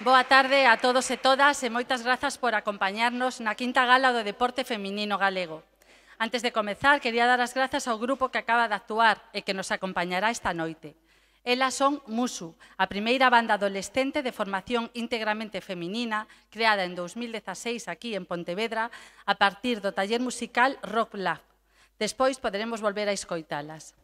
Boa tarde a todos e todas e moitas grazas por acompañarnos na quinta gala do deporte feminino galego. Antes de comezar, quería dar as grazas ao grupo que acaba de actuar e que nos acompañará esta noite. Elas son Musu, a primeira banda adolescente de formación íntegramente feminina, creada en 2016 aquí en Pontevedra, a partir do taller musical Rock Lab. Despois poderemos volver a escoitalas.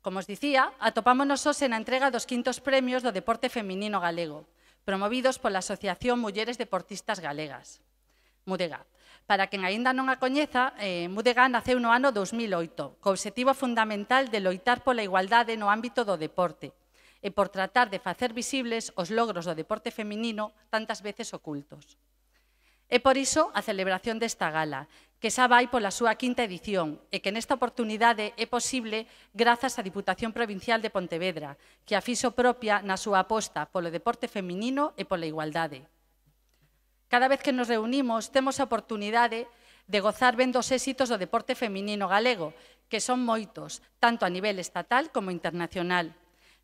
Como os dicía, atopámonos hoxe na entrega dos quintos premios do deporte feminino galego, promovidos pola Asociación Mulleres Deportistas Galegas, Mudega. Para quen aínda non a coñeza, Mudega naceu no ano 2008, co obxectivo fundamental de loitar pola igualdade no ámbito do deporte e por tratar de facer visibles os logros do deporte feminino tantas veces ocultos. É por iso a celebración desta gala, que xa vai pola súa quinta edición e que nesta oportunidade é posible grazas á Diputación Provincial de Pontevedra, que a fixo propia na súa aposta polo deporte feminino e pola igualdade. Cada vez que nos reunimos temos a oportunidade de gozar ben dos éxitos do deporte feminino galego, que son moitos, tanto a nivel estatal como internacional.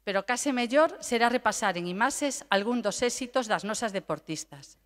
Pero case mellor será repasar en imaxes algún dos éxitos das nosas deportistas.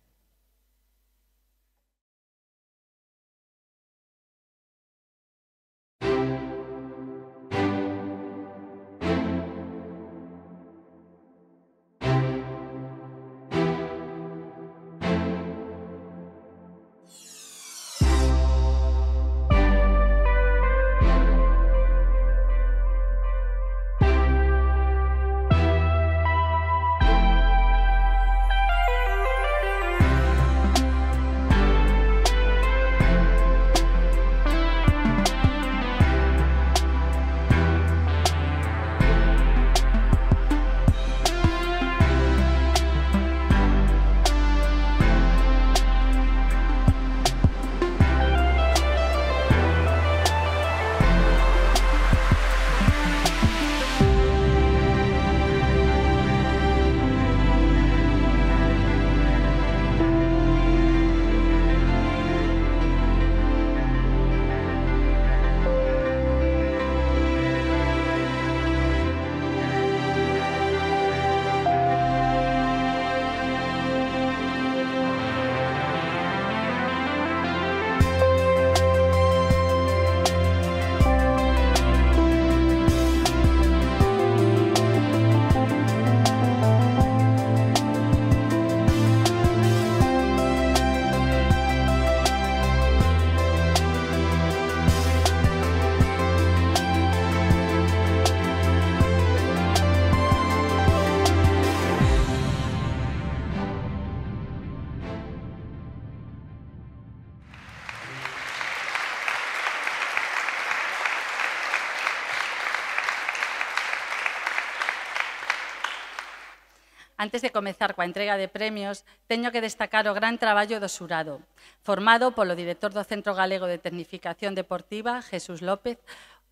Antes de comezar coa entrega de premios, teño que destacar o gran traballo do xurado, formado polo director do Centro Galego de Tecnificación Deportiva, Jesús López,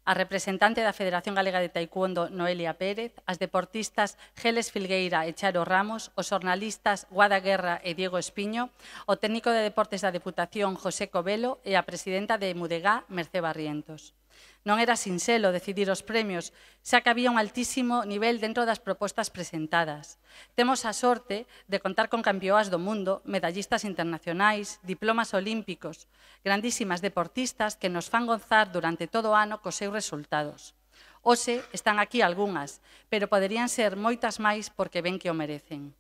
a representante da Federación Galega de Taekwondo, Noelia Pérez, as deportistas Geles Filgueira e Charo Ramos, os xornalistas Guada Guerra e Diego Espiño, o técnico de deportes da Deputación, José Covelo, e a presidenta de Mudega, Mercé Barrientos. Non era sinxelo decidir os premios, xa que había un altísimo nivel dentro das propostas presentadas. Temos a sorte de contar con campeoas do mundo, medallistas internacionais, diplomas olímpicos, grandísimas deportistas que nos fan gozar durante todo o ano cos seus resultados. Hoxe están aquí algunhas, pero poderían ser moitas máis porque ven que o merecen.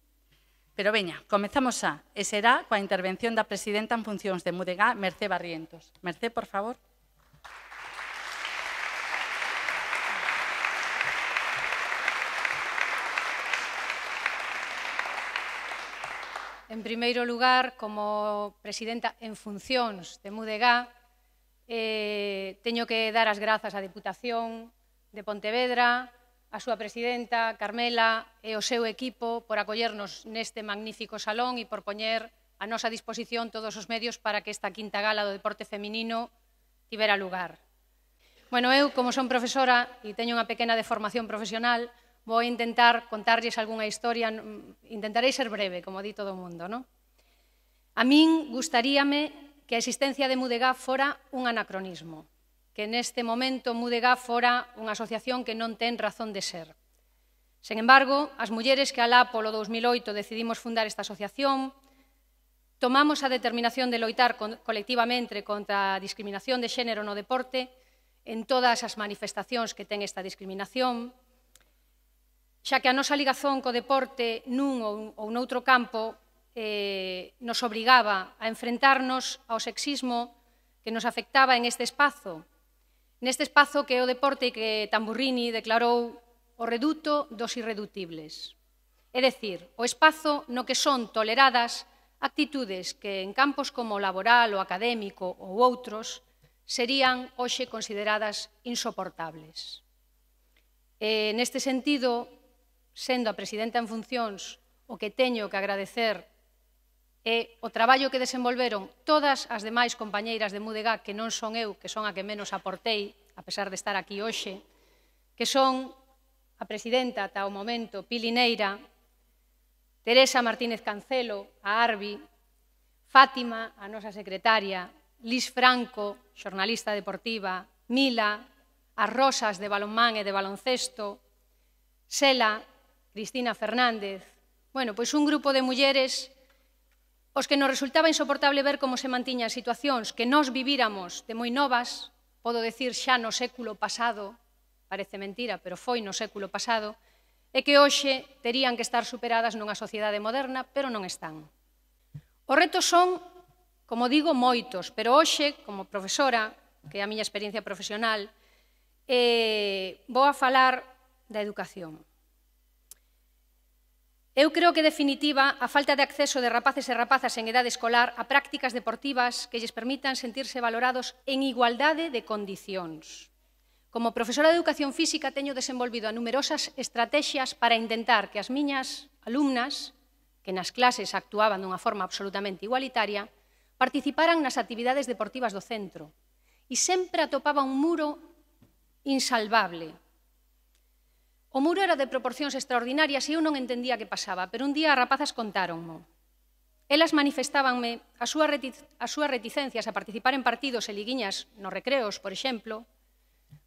Pero veña, comezamos xa, e será coa intervención da presidenta en funcións de Mudega, Mercé Barrientos. Mercé, por favor. En primeiro lugar, como presidenta en funcións de Mudega, teño que dar as grazas á Deputación de Pontevedra, a súa presidenta, Carmela, e o seu equipo por acollernos neste magnífico salón e por poñer a nosa disposición todos os medios para que esta quinta gala do deporte feminino tivera lugar. Bueno, eu, como son profesora e teño unha pequena deformación profesional, vou intentar contarlles algunha historia, intentarei ser breve, como di todo o mundo, non? A min gustaríame que a existencia de Mudega fora un anacronismo, que neste momento Mudega fora unha asociación que non ten razón de ser. Sen embargo, as mulleres que alá polo 2008 decidimos fundar esta asociación, tomamos a determinación de loitar colectivamente contra a discriminación de xénero no deporte en todas as manifestacións que ten esta discriminación, xa que a nosa ligazón co deporte nun ou noutro campo nos obrigaba a enfrentarnos ao sexismo que nos afectaba en este espazo que é o deporte que Tamburrini declarou o reduto dos irreductibles. É dicir, o espazo no que son toleradas actitudes que en campos como o laboral, o académico ou outros serían hoxe consideradas insoportables. Neste sentido, sendo a presidenta en funcións, o que teño que agradecer é o traballo que desenvolveron todas as demais compañeiras de MUDEGA, que non son eu, que son a que menos aportei, a pesar de estar aquí hoxe, que son a presidenta ata o momento, Pili Neira, Teresa Martínez Cancelo, a Arbi, Fátima, a nosa secretaria, Lis Franco, xornalista deportiva, Mila, as Rosas de balonmán e de baloncesto, Sela, Cristina Fernández, pois un grupo de mulleres os que nos resultaba insoportable ver como se mantiñan situacións que nós vivíramos de moi novas, podo decir xa no século pasado, parece mentira, pero foi no século pasado, e que hoxe terían que estar superadas nunha sociedade moderna, pero non están. Os retos son, como digo, moitos, pero hoxe, como profesora, que é a miña experiencia profesional, vou a falar da educación. Eu creo que, en definitiva, a falta de acceso de rapaces e rapazas en idade escolar a prácticas deportivas que lles permitan sentirse valorados en igualdade de condicións. Como profesora de Educación Física teño desenvolvido a numerosas estrategias para intentar que as miñas alumnas, que nas clases actuaban dunha forma absolutamente igualitaria, participaran nas actividades deportivas do centro. E sempre atopaba un muro insalvable. O muro era de proporcións extraordinarias e eu non entendía que pasaba, pero un día as rapazas contáronmo. Elas manifestábanme as súas reticencias a participar en partidos e liguiñas nos recreos, por exemplo,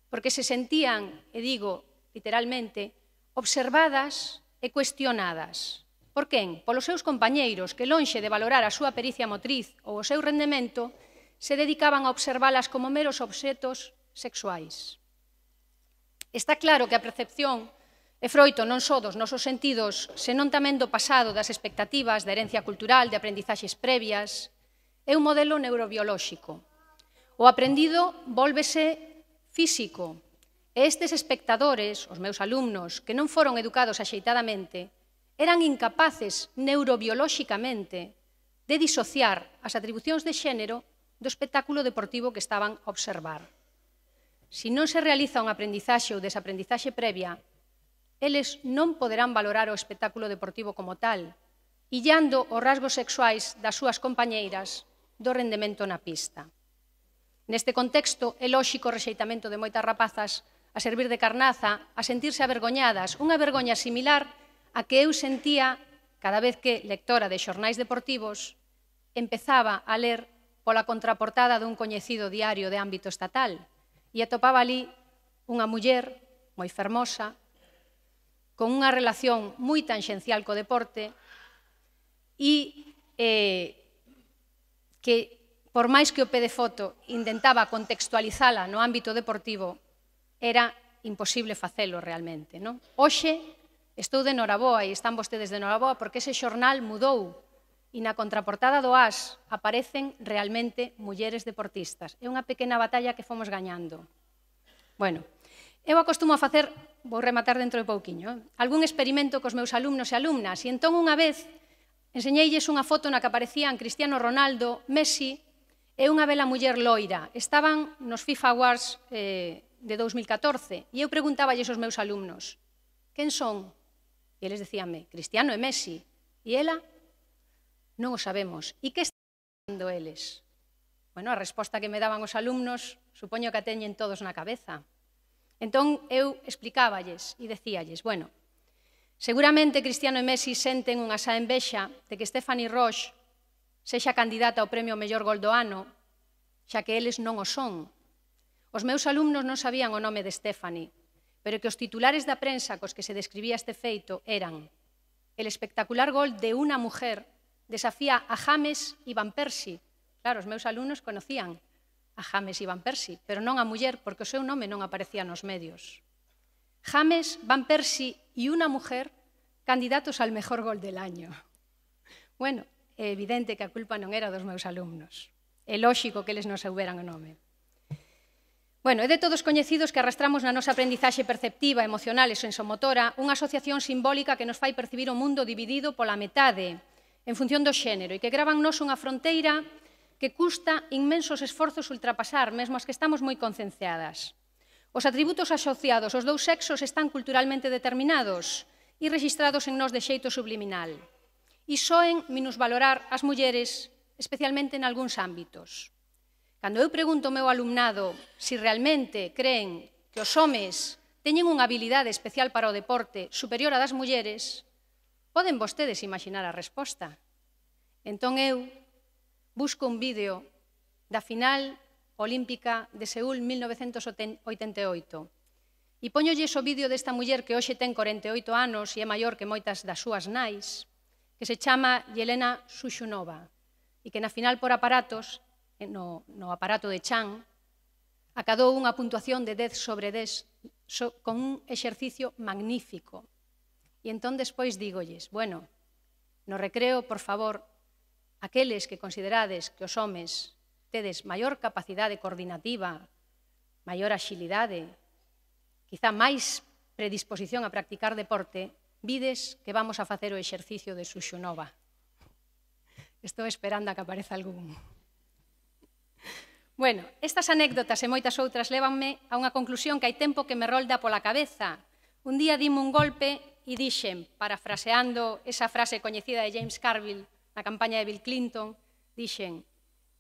porque se sentían, e digo literalmente, observadas e cuestionadas. Por quen? Polos seus compañeiros que, lonxe de valorar a súa pericia motriz ou o seu rendemento, se dedicaban a observalas como meros obxetos sexuais. Está claro que a percepción é froito non só dos nosos sentidos, senón tamén do pasado, das expectativas, da herencia cultural, de aprendizaxes previas. É un modelo neurobiolóxico. O aprendido vólvese físico. E estes espectadores, os meus alumnos, que non foron educados axeitadamente, eran incapaces neurobiolóxicamente de disociar as atribucións de xénero do espectáculo deportivo que estaban a observar. Se non se realiza un aprendizaxe ou desaprendizaxe previa, eles non poderán valorar o espectáculo deportivo como tal, illando os rasgos sexuais das súas compañeiras do rendemento na pista. Neste contexto, é lóxico o rexeitamento de moitas rapazas a servir de carnaza, a sentirse avergoñadas, unha vergoña similar a que eu sentía cada vez que, lectora de xornais deportivos, empezaba a ler pola contraportada dun coñecido diario de ámbito estatal e atopaba ali unha muller moi fermosa, con unha relación moi tanxencial co deporte e que, por máis que o pé de foto intentaba contextualizala no ámbito deportivo, era imposible facelo realmente. Hoxe estou de noraboa e están vostedes de noraboa porque ese xornal mudou e na contraportada do AS aparecen realmente mulleres deportistas. É unha pequena batalla que fomos gañando. Eu acostumo a facer, vou rematar dentro de pouquiño, algún experimento cos meus alumnos e alumnas, e entón unha vez enseñeilles unha foto na que aparecían Cristiano Ronaldo, Messi e unha bela muller loira. Estaban nos FIFA Awards de 2014 e eu preguntáballes aos meus alumnos, quen son? E eles decíanme, Cristiano e Messi. E ela? Non o sabemos. E que están facendo eles? A resposta que me daban os alumnos, supoño que a teñen todos na cabeza. Entón, eu explicáballes e decíalles, seguramente Cristiano e Messi senten unha xa envexa de que Stephanie Roche sexa candidata ao premio mellor gol do ano, xa que eles non o son. Os meus alumnos non sabían o nome de Stephanie, pero que os titulares da prensa cos que se describía este feito eran: el espectacular gol de una mujer desafía a James y Van Persie. Claro, os meus alumnos conocían a James e Van Persie, pero non a muller, porque o seu nome non aparecía nos medios. James, Van Persie e unha mujer candidatos al mejor gol del año. Bueno, é evidente que a culpa non era dos meus alumnos. É lóxico que eles non souberan o nome. Bueno, é de todos coñecidos que arrastramos na nosa aprendizaxe perceptiva, emocional e sensomotora unha asociación simbólica que nos fai percibir o mundo dividido pola metade en función do xénero e que grava en nos unha fronteira que custa inmensos esforzos ultrapasar, mesmo as que estamos moi concienciadas. Os atributos asociados aos dous sexos están culturalmente determinados e registrados en nós de xeito subliminal. E soen minusvalorar as mulleres, especialmente en algúns ámbitos. Cando eu pregunto ao meu alumnado se realmente creen que os homes teñen unha habilidade especial para o deporte superior a das mulleres, poden vostedes imaginar a resposta. Entón eu busco un vídeo da final olímpica de Seúl 1988 e póñolles o vídeo desta muller que hoxe ten 48 anos e é maior que moitas das súas nais, que se chama Yelena Sushunova e que na final por aparatos, no aparato de Chan, acadou unha puntuación de 10 sobre 10 con un exercicio magnífico. E entón despois dígolles, bueno, no recreo, por favor, aqueles que considerades que os homes tedes maior capacidade coordinativa, maior axilidade, quizá máis predisposición a practicar deporte, vides que vamos a facer o exercicio de Sushunova. Estou esperando a que apareza algún. Bueno, estas anécdotas e moitas outras lévanme a unha conclusión que hai tempo que me rolda pola cabeza. Un día dime un golpe e dixen, parafraseando esa frase coñecida de James Carville na campaña de Bill Clinton, dixen: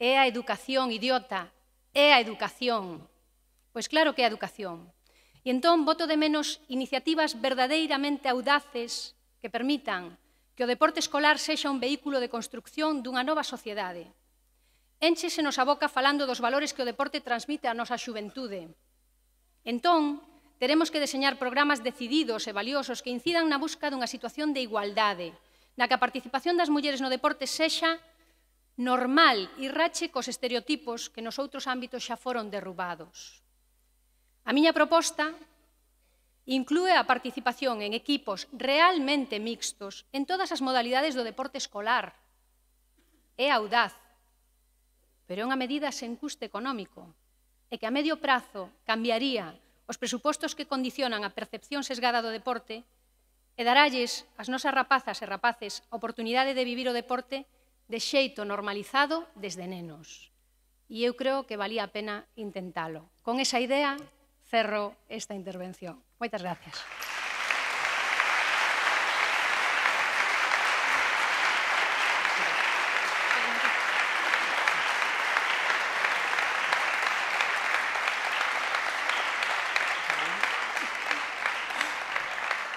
é a educación, idiota, é a educación. Pois claro que é a educación. E entón boto de menos iniciativas verdadeiramente audaces que permitan que o deporte escolar sexa un vehículo de construcción dunha nova sociedade. Énchesenos a boca falando dos valores que o deporte transmite á nosa xuventude. Entón, teremos que deseñar programas decididos e valiosos que incidan na busca dunha situación de igualdade, na que a participación das mulleres no deporte sexa normal e rache cos estereotipos que nos outros ámbitos xa foron derrubados. A miña proposta inclúe a participación en equipos realmente mixtos en todas as modalidades do deporte escolar. É audaz, pero é unha medida sen custe económico e que a medio prazo cambiaría os presupostos que condicionan a percepción sesgada do deporte e daralles ás nosas rapazas e rapaces a oportunidade de vivir o deporte de xeito normalizado desde nenos. E eu creo que valía a pena intentalo. Con esa idea, cerro esta intervención. Moitas gracias.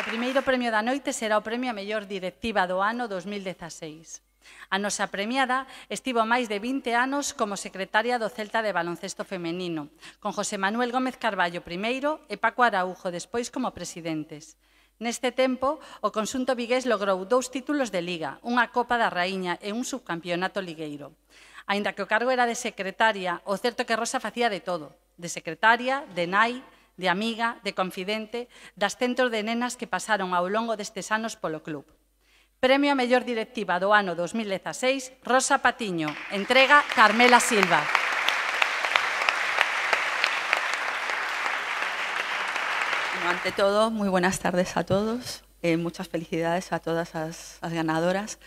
O primeiro premio da noite será o premio a mellor directiva do ano 2016. A nosa premiada estivo máis de 20 anos como secretaria do Celta de baloncesto femenino, con José Manuel Gómez Carballo primeiro e Paco Araújo despois como presidentes. Neste tempo, o conxunto vigués logrou 2 títulos de Liga, unha Copa da Raíña e un subcampeonato ligueiro. Aínda que o cargo era de secretaria, o certo é que Rosa facía de todo, de secretaria, de nai, de amiga, de confidente, das centros de nenas que pasaron ao longo destes anos polo club. Premio a mellor directiva do ano 2016, Rosa Patiño, entrega Carmela Silva. Bueno, ante todo, moi buenas tardes a todos. Muchas felicidades a todas as ganadoras.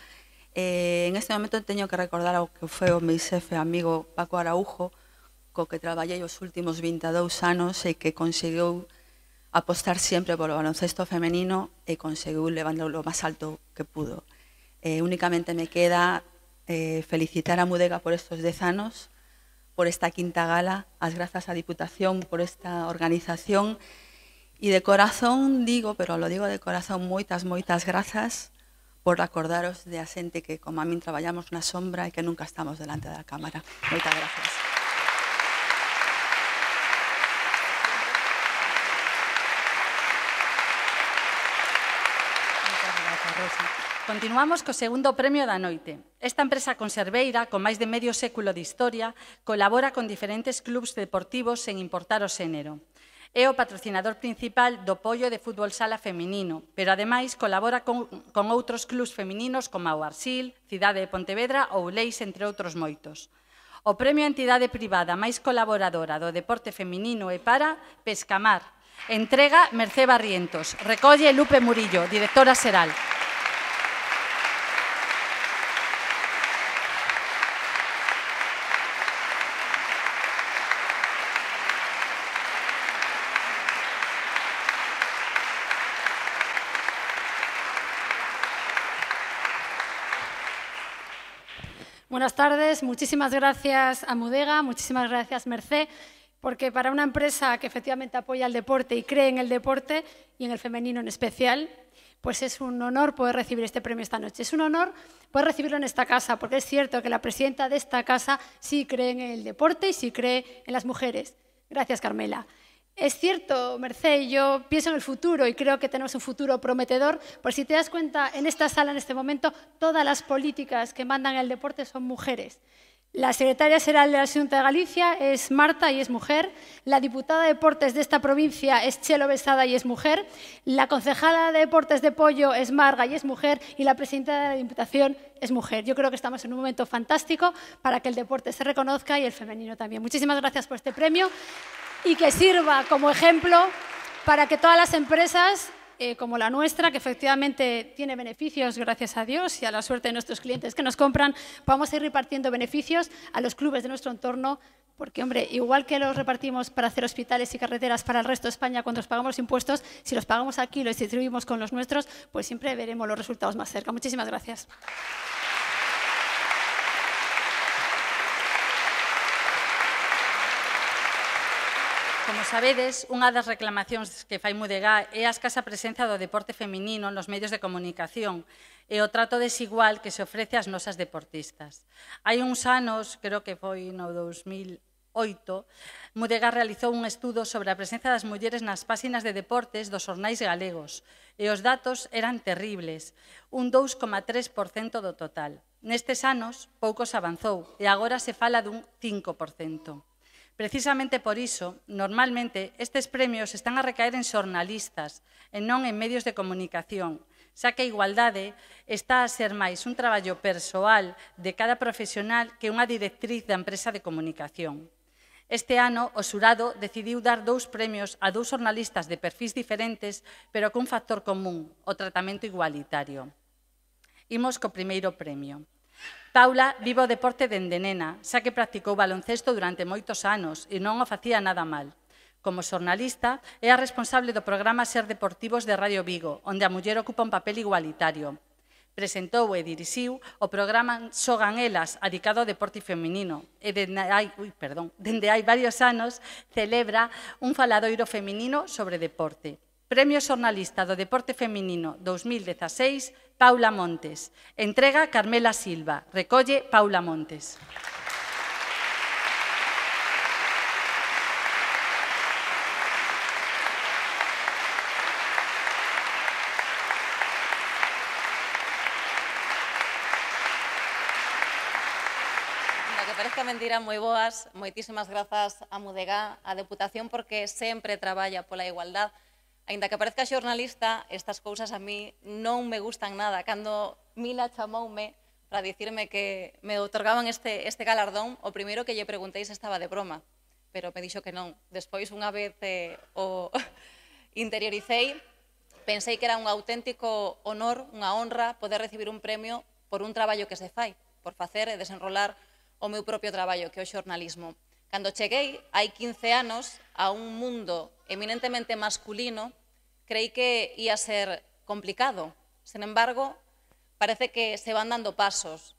En este momento teño que recordar ao que foi o meu xefe amigo Paco Araújo, co que traballei os últimos 22 anos e que conseguiu apostar sempre polo baloncesto femenino e conseguiu levándolo lo máis alto que pudo. Únicamente me queda felicitar a Mudega por estos 10 anos, por esta quinta gala, as grazas á Diputación por esta organización e de corazón digo, pero lo digo de corazón, moitas grazas por acordaros de a xente que como a min traballamos na sombra e que nunca estamos delante da cámara. Moitas grazas. Rosa. Continuamos co segundo premio da noite. Esta empresa conserveira, con máis de medio século de historia, colabora con diferentes clubs deportivos sen importar o xénero. É o patrocinador principal do Pollo de fútbol sala feminino, pero ademais colabora con outros clubs femininos como o Arsil, Cidade de Pontevedra ou Leis, entre outros moitos. O premio a entidade privada máis colaboradora do deporte feminino é para Pescamar. Entrega Mercé Barrientos. Recolle Lupe Murillo, directora xeral. Buenas tardes, muchísimas gracias a Mudega, muchísimas gracias Mercé, porque para una empresa que efectivamente apoya el deporte y cree en el deporte y en el femenino en especial, pues es un honor poder recibir este premio esta noche. Es un honor poder recibirlo en esta casa, porque es cierto que la presidenta de esta casa sí cree en el deporte y sí cree en las mujeres. Gracias, Carmela. Es cierto, Mercé, yo pienso en el futuro y creo que tenemos un futuro prometedor, pues si te das cuenta, en esta sala en este momento, todas las políticas que mandan el deporte son mujeres. La secretaria xeral de la Xunta de Galicia es Marta y es mujer, la diputada de Deportes de esta provincia es Chelo Besada y es mujer, la concejala de Deportes de Pollo es Marga y es mujer y la presidenta de la Diputación es mujer. Yo creo que estamos en un momento fantástico para que el deporte se reconozca y el femenino también. Muchísimas gracias por este premio y que sirva como ejemplo para que todas las empresas como la nuestra, que efectivamente tiene beneficios, gracias a Dios, y a la suerte de nuestros clientes que nos compran, vamos a ir repartiendo beneficios a los clubes de nuestro entorno, porque, hombre, igual que los repartimos para hacer hospitales y carreteras para el resto de España cuando los pagamos impuestos, si los pagamos aquí y los distribuimos con los nuestros, pues siempre veremos los resultados más cerca. Muchísimas gracias. Como sabedes, unha das reclamacións que fai Mudega é a escasa presenza do deporte feminino nos medios de comunicación e o trato desigual que se ofrece ás nosas deportistas. Hai uns anos, creo que foi no 2008, Mudega realizou un estudo sobre a presenza das mulleres nas páxinas de deportes dos xornais galegos e os datos eran terribles, un 2,3% do total. Nestes anos, pouco se avanzou e agora se fala dun 5%. Precisamente por iso, normalmente, estes premios están a recaer en xornalistas e non en medios de comunicación, xa que a igualdade está a ser máis un traballo persoal de cada profesional que unha directriz da empresa de comunicación. Este ano, o xurado decidiu dar 2 premios a 2 xornalistas de perfís diferentes, pero cun factor común, o tratamento igualitario. Imos co primeiro premio. Paula vive o deporte dende nena, xa que practicou baloncesto durante moitos anos e non o facía nada mal. Como xornalista, é a responsable do programa Ser Deportivos de Radio Vigo, onde a muller ocupa un papel igualitario. Presentou e dirixiu o programa Xogan Elas, adicado ao deporte feminino, e dende hai varios anos celebra un faladoiro feminino sobre deporte. Premio Xornalista do Deporte Feminino 2016, Paula Montes. Entrega Carmela Silva. Recolle Paula Montes. Que parezca mentira, moi boas. Moitísimas grazas a Mudega, a Deputación, porque sempre traballa pola igualdade. Ainda que parezca xornalista, estas cousas a mí non me gustan nada. Cando Mila chamoume para dicirme que me outorgaban este galardón, o primeiro que lle preguntei se estaba de broma, pero me dixo que non. Despois, unha vez o interioricei, pensei que era un auténtico honor, unha honra, poder recibir un premio por un traballo que se fai, por facer e desenrolar o meu propio traballo, que é o xornalismo. Cando cheguei, hai 15 anos, a un mundo eminentemente masculino, creí que ia ser complicado. Sin embargo, parece que se van dando pasos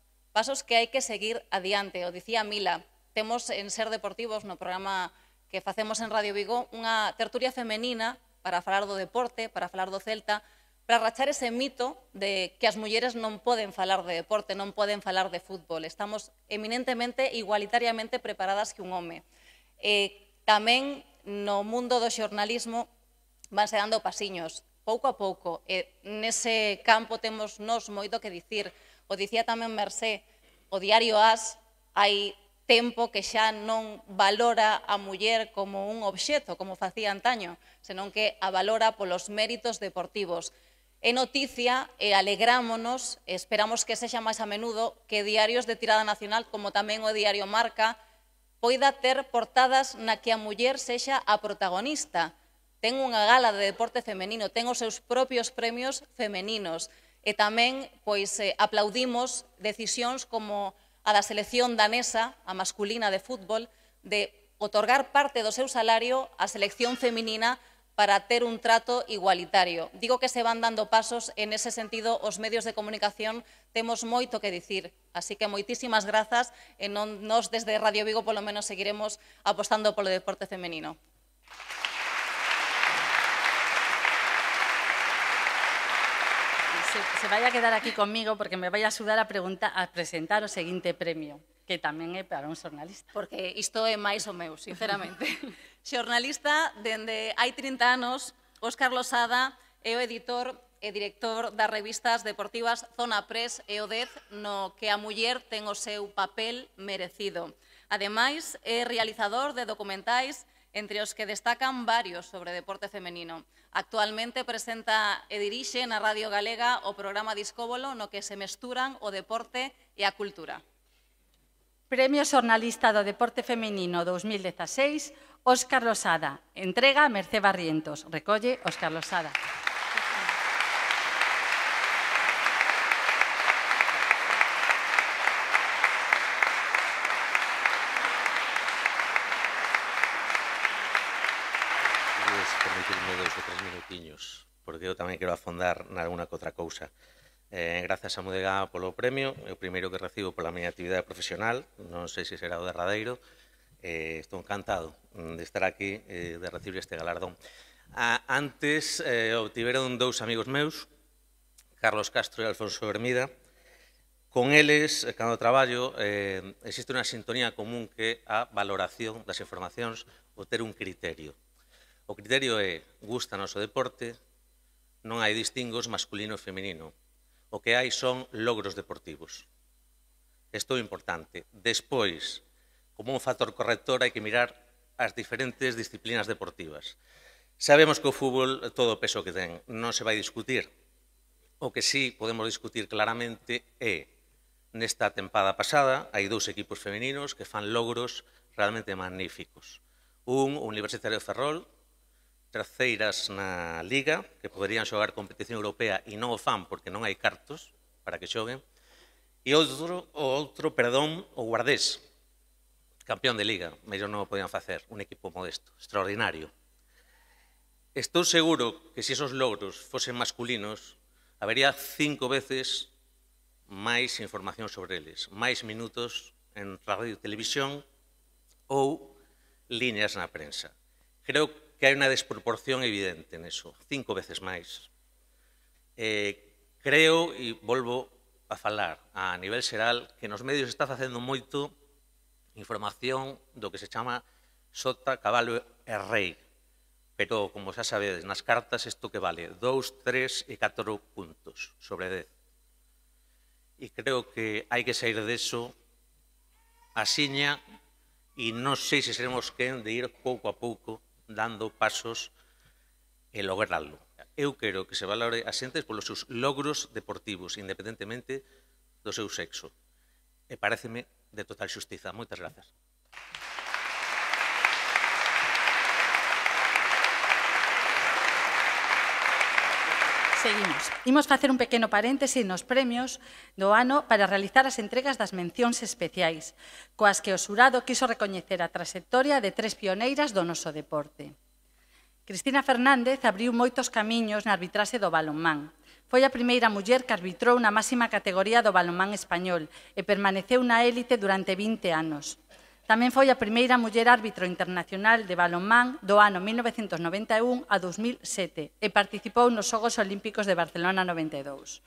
que hai que seguir adiante. O dicía Mila, temos en Ser Deportivos, no programa que facemos en Radio Vigo, unha tertulia femenina para falar do deporte, para falar do Celta, para rachar ese mito de que as mulleres non poden falar de deporte, non poden falar de fútbol. Estamos eminentemente, igualitariamente preparadas que un home. Tamén no mundo do xornalismo vanse dando pasiños. pouco a pouco, e nese campo temos nos moito que dicir. O dicía tamén Mercé, o diario AS hai tempo que xa non valora a muller como un obxeto, como facía antaño, senón que a valora polos méritos deportivos. É noticia e alegrámonos, e esperamos que sexa máis a menudo, que diarios de tirada nacional, como tamén o diario Marca, poida ter portadas na que a muller sexa a protagonista. Ten unha gala de deporte femenino, ten os seus propios premios femeninos, e tamén aplaudimos decisións como a da selección danesa, a masculina de fútbol, de otorgar parte do seu salario á selección feminina para ter un trato igualitario. Digo que se van dando pasos, en ese sentido, os medios de comunicación temos moito que dicir. Así que moitísimas grazas, e nos desde Radio Vigo polo menos seguiremos apostando polo deporte femenino. Se vai a quedar aquí conmigo porque me vai a axudar a presentar o seguinte premio, que tamén é para un xornalista. Porque isto é máis o meu, sinceramente. Xornalista, dende hai 30 anos, Óscar Losada é o editor e director das revistas deportivas Zona Press e o 10, no que a muller ten o seu papel merecido. Ademais, é realizador de documentais, entre os que destacan varios sobre deporte femenino. Actualmente presenta e dirixe na Radio Galega o programa Discóbolo, no que se mesturan o deporte e a cultura. Premio Xornalista do Deporte Femenino 2016, Óscar Losada. Entrega a Mercé Barrientos. Recolle Óscar Losada. Permitirme 2 ou 3 minutiños, porque eu tamén quero afondar nalgúna que outra cousa. Grazas a Mudega polo premio, é o primeiro que recibo pola miña actividade profesional, non sei se será o derradeiro. Estou encantado de estar aquí, de recibir este galardón. Antes obtiveron 2 amigos meus, Carlos Castro e Alfonso Hermida. Con eles, cando traballo, existe unha sintonía común que é a valoración das informacións, o ter un criterio. O criterio é, gústanos o deporte, non hai distingos masculino e feminino. O que hai son logros deportivos. Isto é importante. Despois, como un factor corrector, hai que mirar as diferentes disciplinas deportivas. Sabemos que o fútbol, todo o peso que ten, non se vai discutir. O que sí podemos discutir claramente é, nesta tempada pasada, hai 2 equipos femeninos que fan logros realmente magníficos. Un, o Universitario de Ferrol, terceiras na Liga, que poderían xogar competición europea e non o fan porque non hai cartos para que xoguen, e o Guardés, campeón de Liga, mellor non o podían facer, un equipo modesto, extraordinario. Estou seguro que se esos logros fosen masculinos, habería 5 veces máis información sobre eles, máis minutos en radio e televisión ou líneas na prensa. Creo que hai unha desproporción evidente neso, 5 veces máis. Creo, e volvo a falar a nivel xeral, que nos medios está facendo moito información do que se chama sota, cabalo e rei. Pero, como xa sabedes, nas cartas isto que vale 2, 3 e 4 puntos sobre 10. E creo que hai que sair deso asiña e non sei se seremos quen de ir pouco a pouco dando pasos e lograrlo. Eu quero que se valore a xentes polos seus logros deportivos, independentemente do seu sexo. E paréceme de total xustiza. Moitas grazas. Seguimos. Imos facer un pequeno paréntese nos premios do ano para realizar as entregas das mencións especiais, coas que o xurado quiso recoñecer a trayectoria de 3 pioneiras do noso deporte. Cristina Fernández abriu moitos camiños na arbitraxe do balonmán. Foi a primeira muller que arbitrou na máxima categoría do balonmán español e permaneceu na élite durante 20 anos. Tamén foi a primeira muller árbitro internacional de balonmán do ano 1991 a 2007 e participou nos Xogos Olímpicos de Barcelona 92.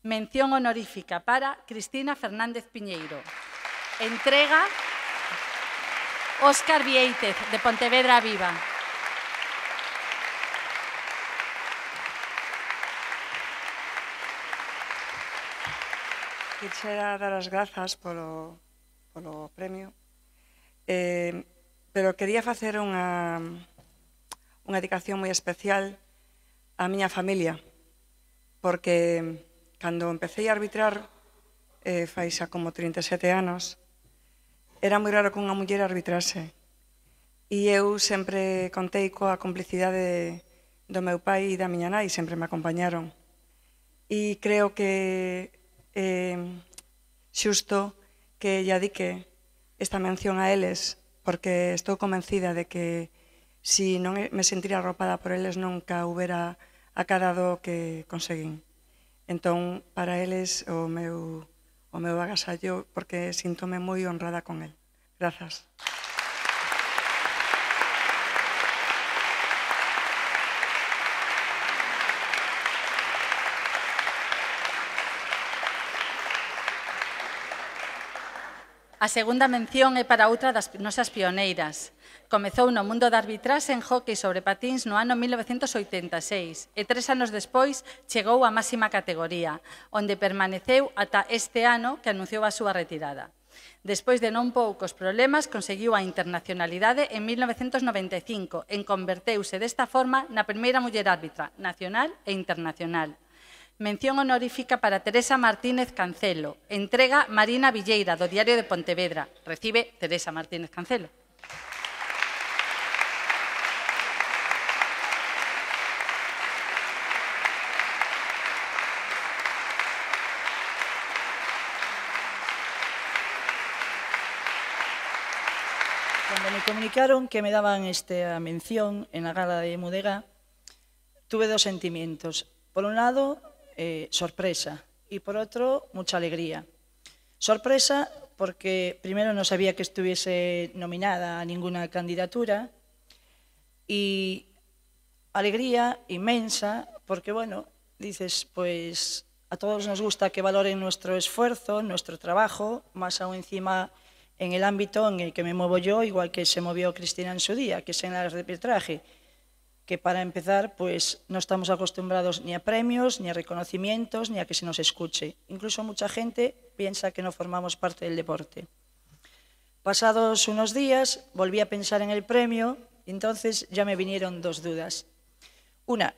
Mención honorífica para Cristina Fernández Piñeiro. Entrega Óscar Vieitez, de Pontevedra Viva. Quixera dar as grazas polo premio, pero quería facer unha dedicación moi especial á miña familia, porque cando empecé a arbitrar, fai xa como 37 anos, era moi raro que unha muller arbitrase. E eu sempre contei coa complicidade do meu pai e da miña nai, sempre me acompañaron. E creo que xusto que lle adique esta mención a eles, porque estou convencida de que si non me sentira arropada por eles nunca houbera acadado o que conseguín. Entón, para eles o meu agasallo, porque síntome moi honrada con el. Grazas. A segunda mención é para outra das nosas pioneiras. Comezou no mundo da arbitraxe en hóckey sobre patíns no ano 1986 e 3 anos despois chegou á máxima categoría, onde permaneceu ata este ano que anunciou a súa retirada. Despois de non poucos problemas, conseguiu a internacionalidade en 1995 e converteuse desta forma na primeira muller árbitra nacional e internacional. Mención honorífica para Teresa Martínez Cancelo. Entrega Marina Villeira, do Diario de Pontevedra. Recibe Teresa Martínez Cancelo. Cando me comunicaron que me daban esta mención en la gala de Mudega, tuve dos sentimientos. Por un lado, sorpresa, y por otro, mucha alegría. Sorpresa porque primero no sabía que estuviese nominada a ninguna candidatura, y alegría inmensa porque, bueno, dices, pues a todos nos gusta que valoren nuestro esfuerzo, nuestro trabajo, más aún encima en el ámbito en el que me muevo yo, igual que se movió Cristina en su día, que es en el arbitraje, que para empezar, pues no estamos acostumbrados ni a premios, ni a reconocimientos, ni a que se nos escuche. Incluso mucha gente piensa que no formamos parte del deporte. Pasados unos días, volví a pensar en el premio y entonces ya me vinieron dos dudas. Una,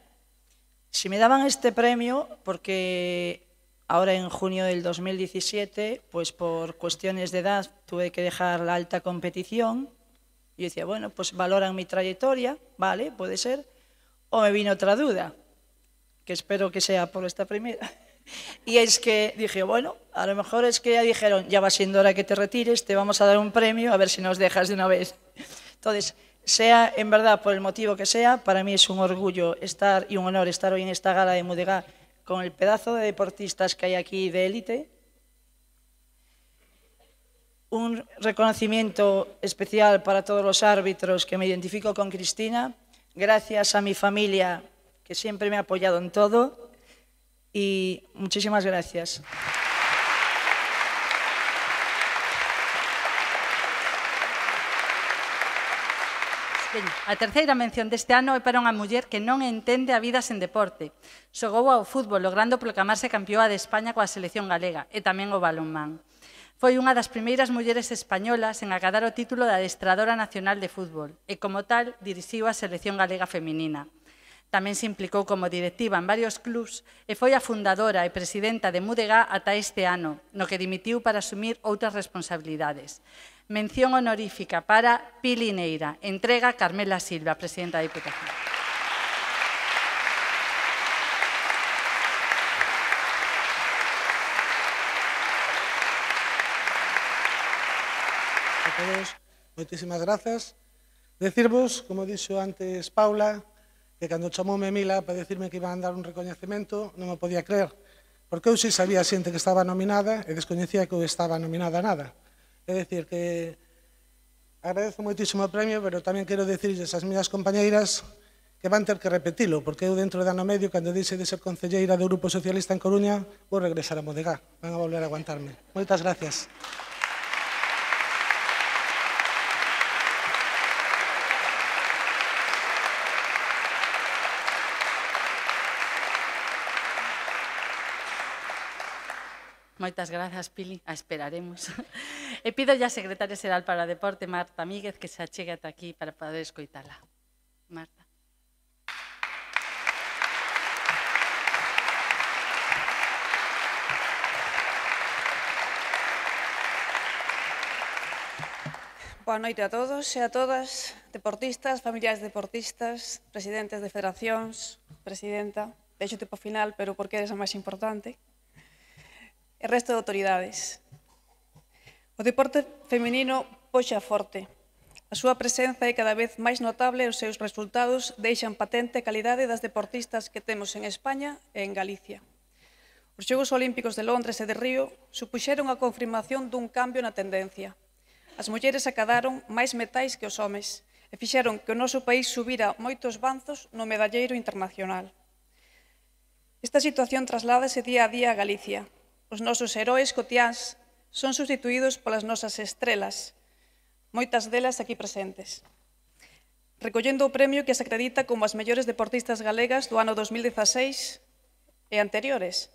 si me daban este premio, porque ahora en junio del 2017, pues por cuestiones de edad tuve que dejar la alta competición. Yo decía, bueno, pues valoran mi trayectoria, vale, puede ser. O me vino otra duda, que espero que sea por esta primera. Y es que dije, bueno, a lo mejor es que ya dijeron, ya va siendo hora que te retires, te vamos a dar un premio, a ver si nos dejas de una vez. Entonces, sea en verdad por el motivo que sea, para mí es un orgullo estar y un honor estar hoy en esta gala de Mudega con el pedazo de deportistas que hay aquí de élite. Un reconocimiento especial para todos los árbitros, que me identifico con Cristina, gracias a mi familia, que siempre me ha apoyado en todo, y muchísimas gracias. A terceira mención deste ano é para unha muller que non entende a vida sen deporte. Xogou ao fútbol, logrando proclamarse campeoa de España coa selección galega, e tamén o balonmán. Foi unha das primeiras mulleres españolas en acadar o título de adestradora nacional de fútbol e, como tal, dirixiu a selección galega feminina. Tamén se implicou como directiva en varios clubs e foi a fundadora e presidenta de Mudega ata este ano, no que dimitiu para asumir outras responsabilidades. Mención honorífica para Pili Neira. Entrega Carmela Silva, presidenta da Diputación. Todos, moitísimas grazas. Decirvos, como dixo antes Paula, que cando chamoume Mila para decirme que iban a dar un recoñecemento non me podía creer, porque eu sí sabía xente que estaba nominada e descoñecía que eu estaba nominada a nada. É dicir, que agradezo moitísimo o premio, pero tamén quero dicirles ás miñas compañeiras que van ter que repetilo, porque eu dentro de ano medio, cando dixe de ser concelleira do Grupo Socialista en Coruña, vou regresar a Mudega, van a volver a aguantarme. Moitas gracias. Moitas grazas, Pili. A esperaremos. E pido ya a secretaria xeral para o Deporte, Marta Míguez, que se achegue ata aquí para poder escoitala. Marta. Boa noite a todos e a todas, deportistas, familiares deportistas, presidentes de federacións, presidenta, deixo tipo final, pero porque eres a máis importante, e resto de autoridades. O deporte feminino poxa forte. A súa presenza é cada vez máis notable e os seus resultados deixan patente a calidade das deportistas que temos en España e en Galicia. Os Xogos Olímpicos de Londres e de Río supuxeron a confirmación dun cambio na tendencia. As mulleres acadaron máis metais que os homes e fixeron que o noso país subira moitos banzos no medalleiro internacional. Esta situación trasládase día a día a Galicia. Os nosos heróis cotiáns son sustituídos polas nosas estrelas, moitas delas aquí presentes, recollendo o premio que se acredita como as mellores deportistas galegas do ano 2016 e anteriores.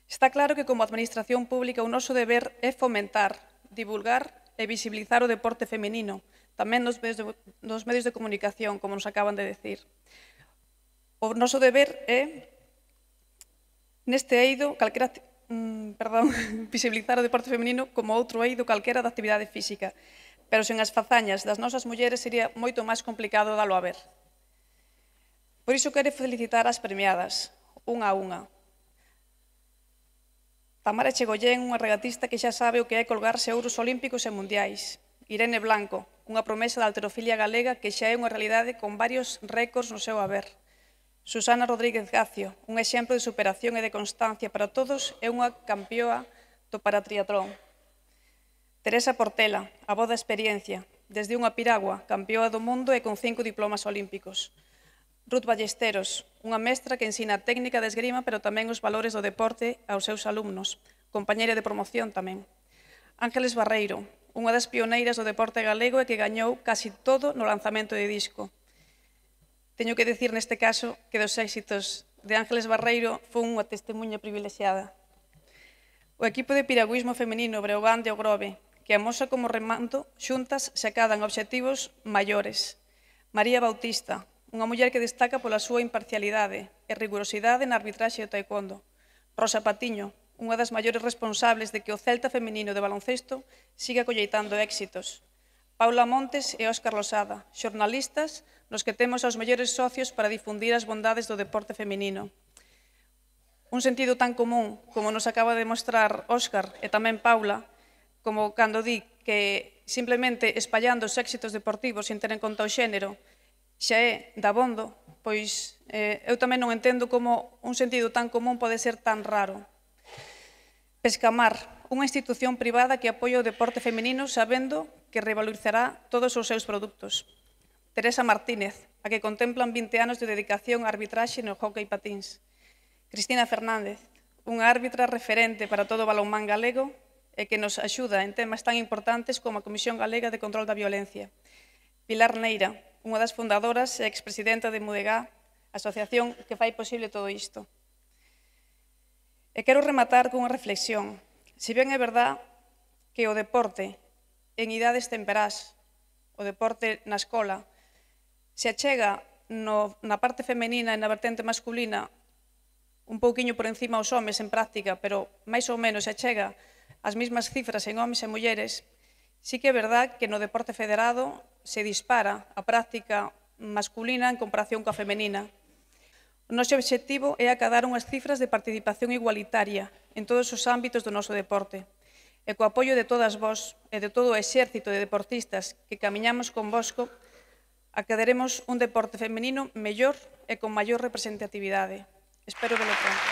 Está claro que como administración pública o noso deber é fomentar, divulgar e visibilizar o deporte feminino, tamén nos medios de comunicación, como nos acaban de decir. O noso deber é, neste eido, visibilizar o deporte feminino como outro eido calquera da actividade física, pero sen as fazañas das nosas mulleres sería moito máis complicado dalo a ver. Por iso quero felicitar as premiadas, unha a unha. Tamara Chegollén, unha regatista que xa sabe o que é colgarse ouros olímpicos e mundiais. Irene Blanco, unha promesa da halterofilia galega que xa é unha realidade con varios récords no seu haber. Susana Rodríguez Gacio, un exemplo de superación e de constancia para todos, é unha campioa do paratriatlón. Teresa Portela, a voz da experiencia, desde unha piragua, campioa do mundo e con 5 diplomas olímpicos. Ruth Ballesteros, unha mestra que ensina a técnica de esgrima, pero tamén os valores do deporte aos seus alumnos, compañeira de promoción tamén. Ángeles Barreiro, unha das pioneiras do deporte galego e que gañou casi todo no lanzamento de disco. Teño que decir neste caso que dos éxitos de Ángeles Barreiro foi unha testemunha privilexiada. O equipo de piragüismo femenino Breogán de Ogrove, que amosa como remando xuntas se acadan obxectivos maiores. María Bautista, unha muller que destaca pola súa imparcialidade e rigurosidade na arbitraxe do taekwondo. Rosa Patiño, unha das maiores responsables de que o Celta feminino de baloncesto siga colleitando éxitos. Paula Montes e Óscar Losada, xornalistas nos que temos aos mellores socios para difundir as bondades do deporte feminino. Un sentido tan común como nos acaba de mostrar Óscar e tamén Paula, como cando di que simplemente espallando os éxitos deportivos sin ter en conta o xénero xa é dabondo, pois eu tamén non entendo como un sentido tan común pode ser tan raro. Pescamar, unha institución privada que apoia o deporte feminino sabendo que revalorizará todos os seus produtos. Teresa Martínez, a que contemplan 20 anos de dedicación á arbitraxe no hóckey patíns. Cristina Fernández, unha árbitra referente para todo o balonmán galego e que nos axuda en temas tan importantes como a Comisión Galega de Control da Violencia. Pilar Neira, unha das fundadoras e expresidenta de Mudegá, asociación que fai posible todo isto. E quero rematar cunha reflexión. Se ben é verdad que o deporte en idades temperás, o deporte na escola, se achega na parte femenina e na vertente masculina un pouquiño por encima aos homes en práctica, pero máis ou menos se achega as mesmas cifras en homes e mulleres, sí que é verdad que no deporte federado se dispara a práctica masculina en comparación coa femenina. O noso obxectivo é acadar unhas cifras de participación igualitaria en todos os ámbitos do noso deporte. E co apoio de todas vós e de todo o exército de deportistas que camiñamos convosco, acadaremos un deporte femenino mellor e con maior representatividade. Espero velo pronto.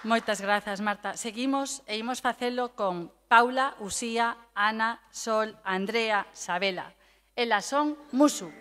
Moitas grazas, Marta. Seguimos e imos facelo con Paula, Uxía, Ana, Sol, Andrea, Sabela. Elas son Musu.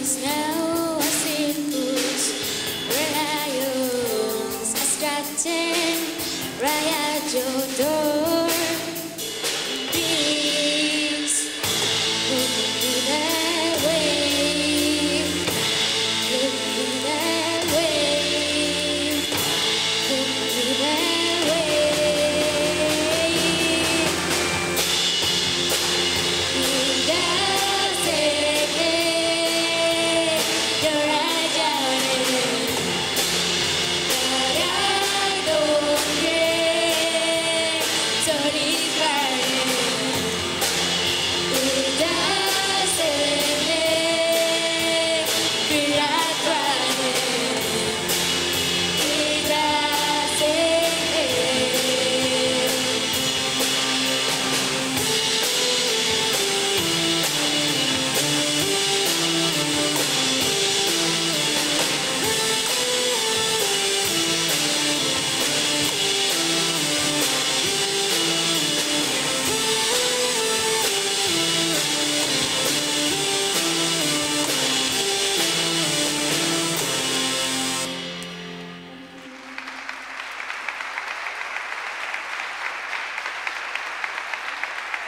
Once now a circus where lions are stretching right at your door. Please look me that way, look me that way, look me that way. It doesn't make your eyes shining, but I don't care. So it's burning. It doesn't make feel like crying. It doesn't make.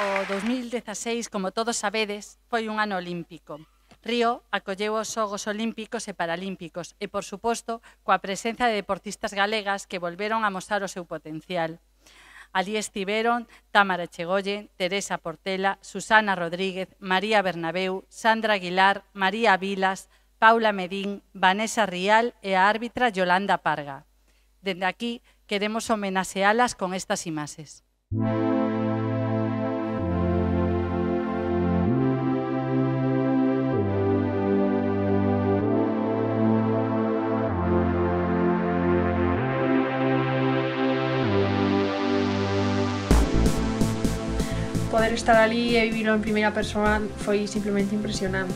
O 2016, como todos sabedes, foi un ano olímpico. Río acolleu os Xogos Olímpicos e Paralímpicos e, por suposto, coa presenza de deportistas galegas que volveron a mostrar o seu potencial. Alí estiveron Támara Echegoyen, Teresa Portela, Susana Rodríguez, María Bernabeu, Sandra Aguilar, María Vilas, Paula Medín, Vanessa Rial e a árbitra Yolanda Parga. Dende aquí, queremos homenaxealas con estas imaxes. Poder estar ali e vivirlo en primeira persoa foi simplemente impresionante.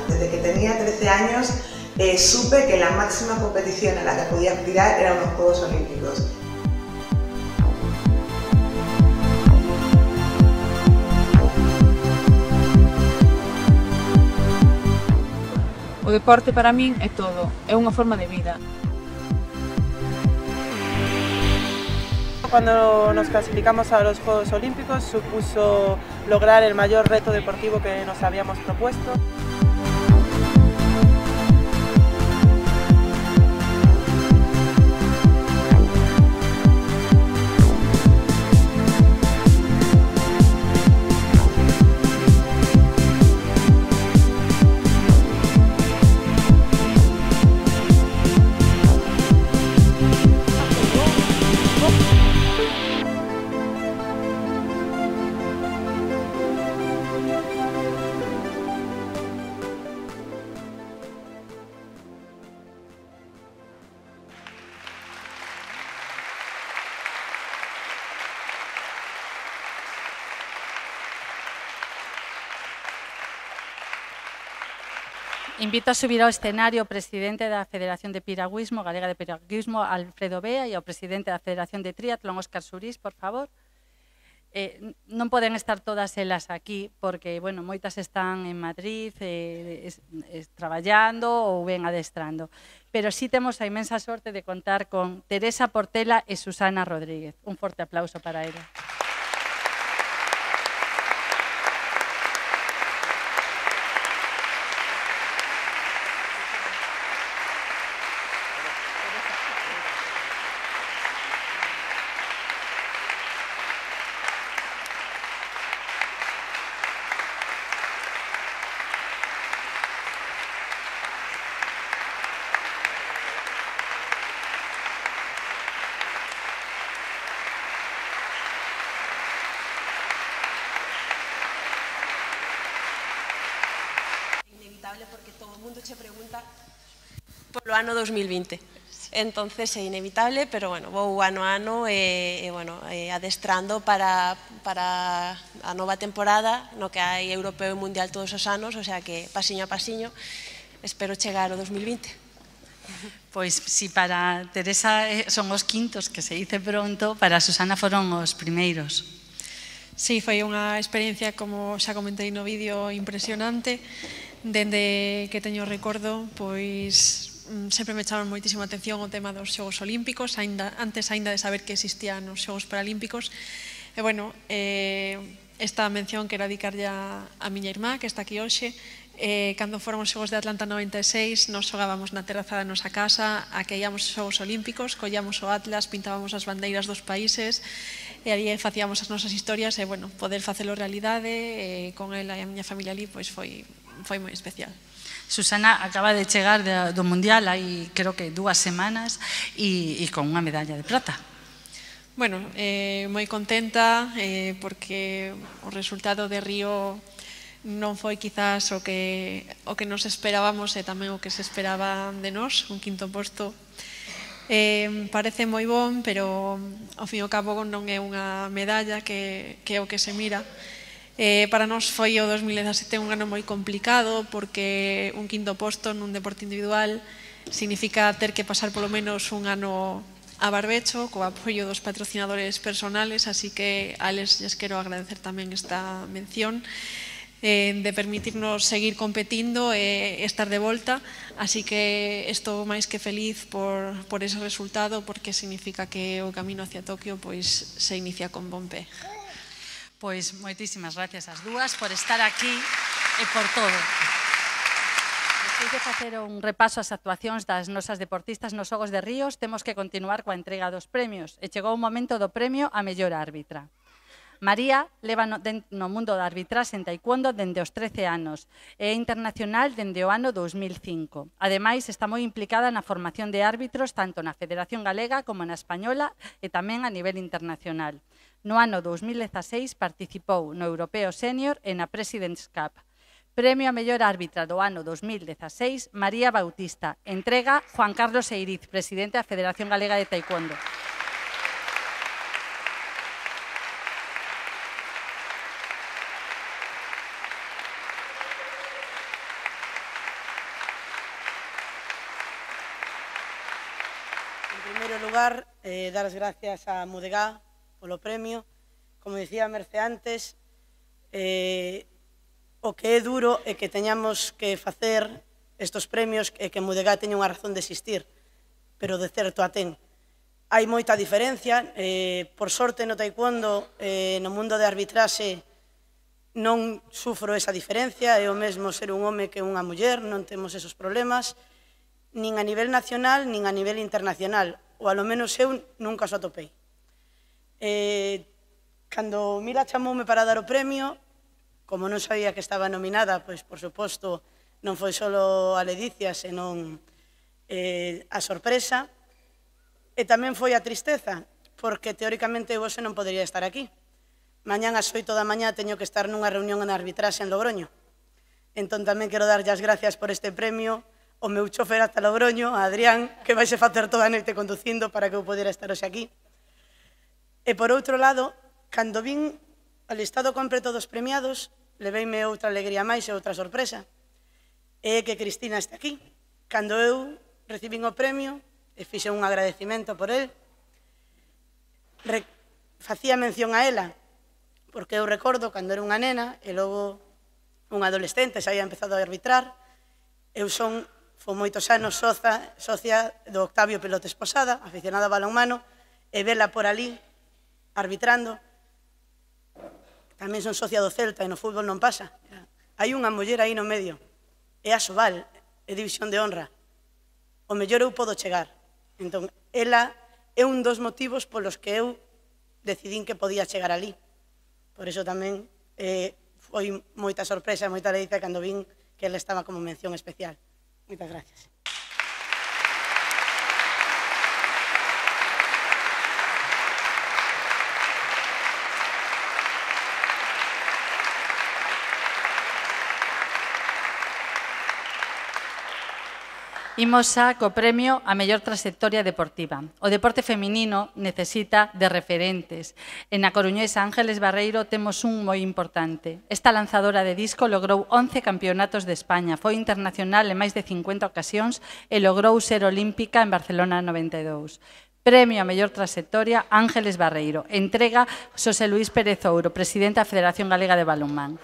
Desde que tenía 13 años supe que la máxima competición a la que podía aspirar eran los Juegos Olímpicos. O deporte para min é todo, é unha forma de vida. Cuando nos clasificamos a los Juegos Olímpicos supuso lograr el mayor reto deportivo que nos habíamos propuesto. Invito a subir ao escenario o presidente da Federación de Piragüismo, Galega de Piragüismo, Alfredo Bea, e ao presidente da Federación de Triatlón, Óscar Surís, por favor. Non poden estar todas elas aquí porque, bueno, moitas están en Madrid traballando ou ben adestrando. Pero sí temos a inmensa sorte de contar con Teresa Portela e Susana Rodríguez. Un forte aplauso para elas. Porque todo o mundo che pregunta polo ano 2020. entonces é inevitable, pero bueno, vou ano a ano adestrando para a nova temporada no que hai europeo e mundial todos os anos, o sea que pasiño a pasiño espero chegar ao 2020. Pois si para Teresa son os quintos, que se dice pronto, para Susana foron os primeiros. Sí, foi unha experiencia, como xa comentei no vídeo, impresionante. Dende que teño recordo, pois sempre me chama moitísima atención o tema dos Xogos Olímpicos, antes aínda de saber que existían os Xogos Paralímpicos. E, bueno, esta mención quero dedicarlle a miña irmá, que está aquí hoxe. Cando foron os Xogos de Atlanta 96, nos xogábamos na terraza da nosa casa, a que íamos os Xogos Olímpicos, collíamos o atlas, pintábamos as bandeiras dos países, e ali facíamos as nosas historias, e, bueno, poder facelo realidade con ela e a miña familia ali, pois foi moi especial. Susana acaba de chegar do Mundial hai, creo que 2 semanas, e con unha medalla de prata. Bueno, moi contenta, porque o resultado de Río non foi quizás o que nos esperábamos e tamén o que se esperaba de nós, un quinto posto. Parece moi bon, pero ao fin e ao cabo non é unha medalla que é o que se mira. Para nós foi o 2017 un ano moi complicado, porque un quinto posto nun deporte individual significa ter que pasar polo menos un ano a barbecho, co apoio dos patrocinadores personales, así que a eles lles quero agradecer tamén esta mención, de permitirnos seguir competindo e estar de volta, así que estou máis que feliz por ese resultado, porque significa que o camino hacia Tokio pois se inicia con bon pé. Pois moitísimas gracias ás dúas por estar aquí e por todo. Despois de facer un repaso ás actuacións das nosas deportistas nos Xogos de Ríos, temos que continuar coa entrega dos premios, e chegou o momento do premio a mellor árbitra. María leva no mundo da arbitraxe en taekwondo dende os 13 anos e é internacional dende o ano 2005. Ademais, está moi implicada na formación de árbitros tanto na Federación Galega como na Española e tamén a nivel internacional. No ano 2016 participou no Europeo Senior e na President's Cup. Premio a mellor árbitra do ano 2016, María Bautista. Entrega Juan Carlos Eiriz, presidente da Federación Galega de Taekwondo. Dar as gracias a Mudegá polo premio. Como dicía Merce antes, o que é duro é que teñamos que facer estes premios e que Mudegá teña unha razón de existir, pero de certo a ten. Hai moita diferencia, por sorte no taekwondo, no mundo de arbitraxe, non sufro esa diferencia, é o mesmo ser un home que unha muller, non temos esos problemas, nin a nivel nacional, nin a nivel internacional, ou alo menos eu nunca os atopei. Cando Mila chamoume para dar o premio, como non sabía que estaba nominada, pois, por suposto, non foi só a ledicia, senón a sorpresa, e tamén foi a tristeza, porque teóricamente eu hoxe non podería estar aquí. Mañán ás 8 da mañá teño que estar nunha reunión en arbitraxe en Logroño. Entón tamén quero darlle as gracias por este premio o meu chofer ata Logroño, a Adrián, que vaise facer toda a noite conducindo para que eu podera estar hoxe aquí. E por outro lado, cando vin o listado completo dos premiados, leveime outra alegría máis e outra sorpresa. É que Cristina está aquí. Cando eu recibín o premio, e fixe un agradecimento por el, facía mención a ela, porque eu recordo cando era unha nena e logo un adolescente, xa había empezado a arbitrar, eu foi moitos anos socia do Octavio Pelotes Posada, aficionada a balonmano, e vela por ali arbitrando. Tamén son socia do Celta e no fútbol non pasa. Hai unha muller aí no medio, é a Sobal, é división de honra. O mellor eu podo chegar. Entón, ela é un dos motivos polos que eu decidín que podía chegar ali. Por iso tamén foi moita sorpresa, moita alegría cando vin que ela estaba como mención especial. Moitas gracias. Imos xa co premio a mellor trayectoria deportiva. O deporte feminino necesita de referentes. En a coruñesa Ángeles Barreiro temos un moi importante. Esta lanzadora de disco logrou 11 campeonatos de España, foi internacional en máis de 50 ocasións e logrou ser olímpica en Barcelona 92. Premio a mellor trayectoria Ángeles Barreiro. Entrega Xosé Luís Pérez Ouro, presidente da Federación Galega de Balonmán.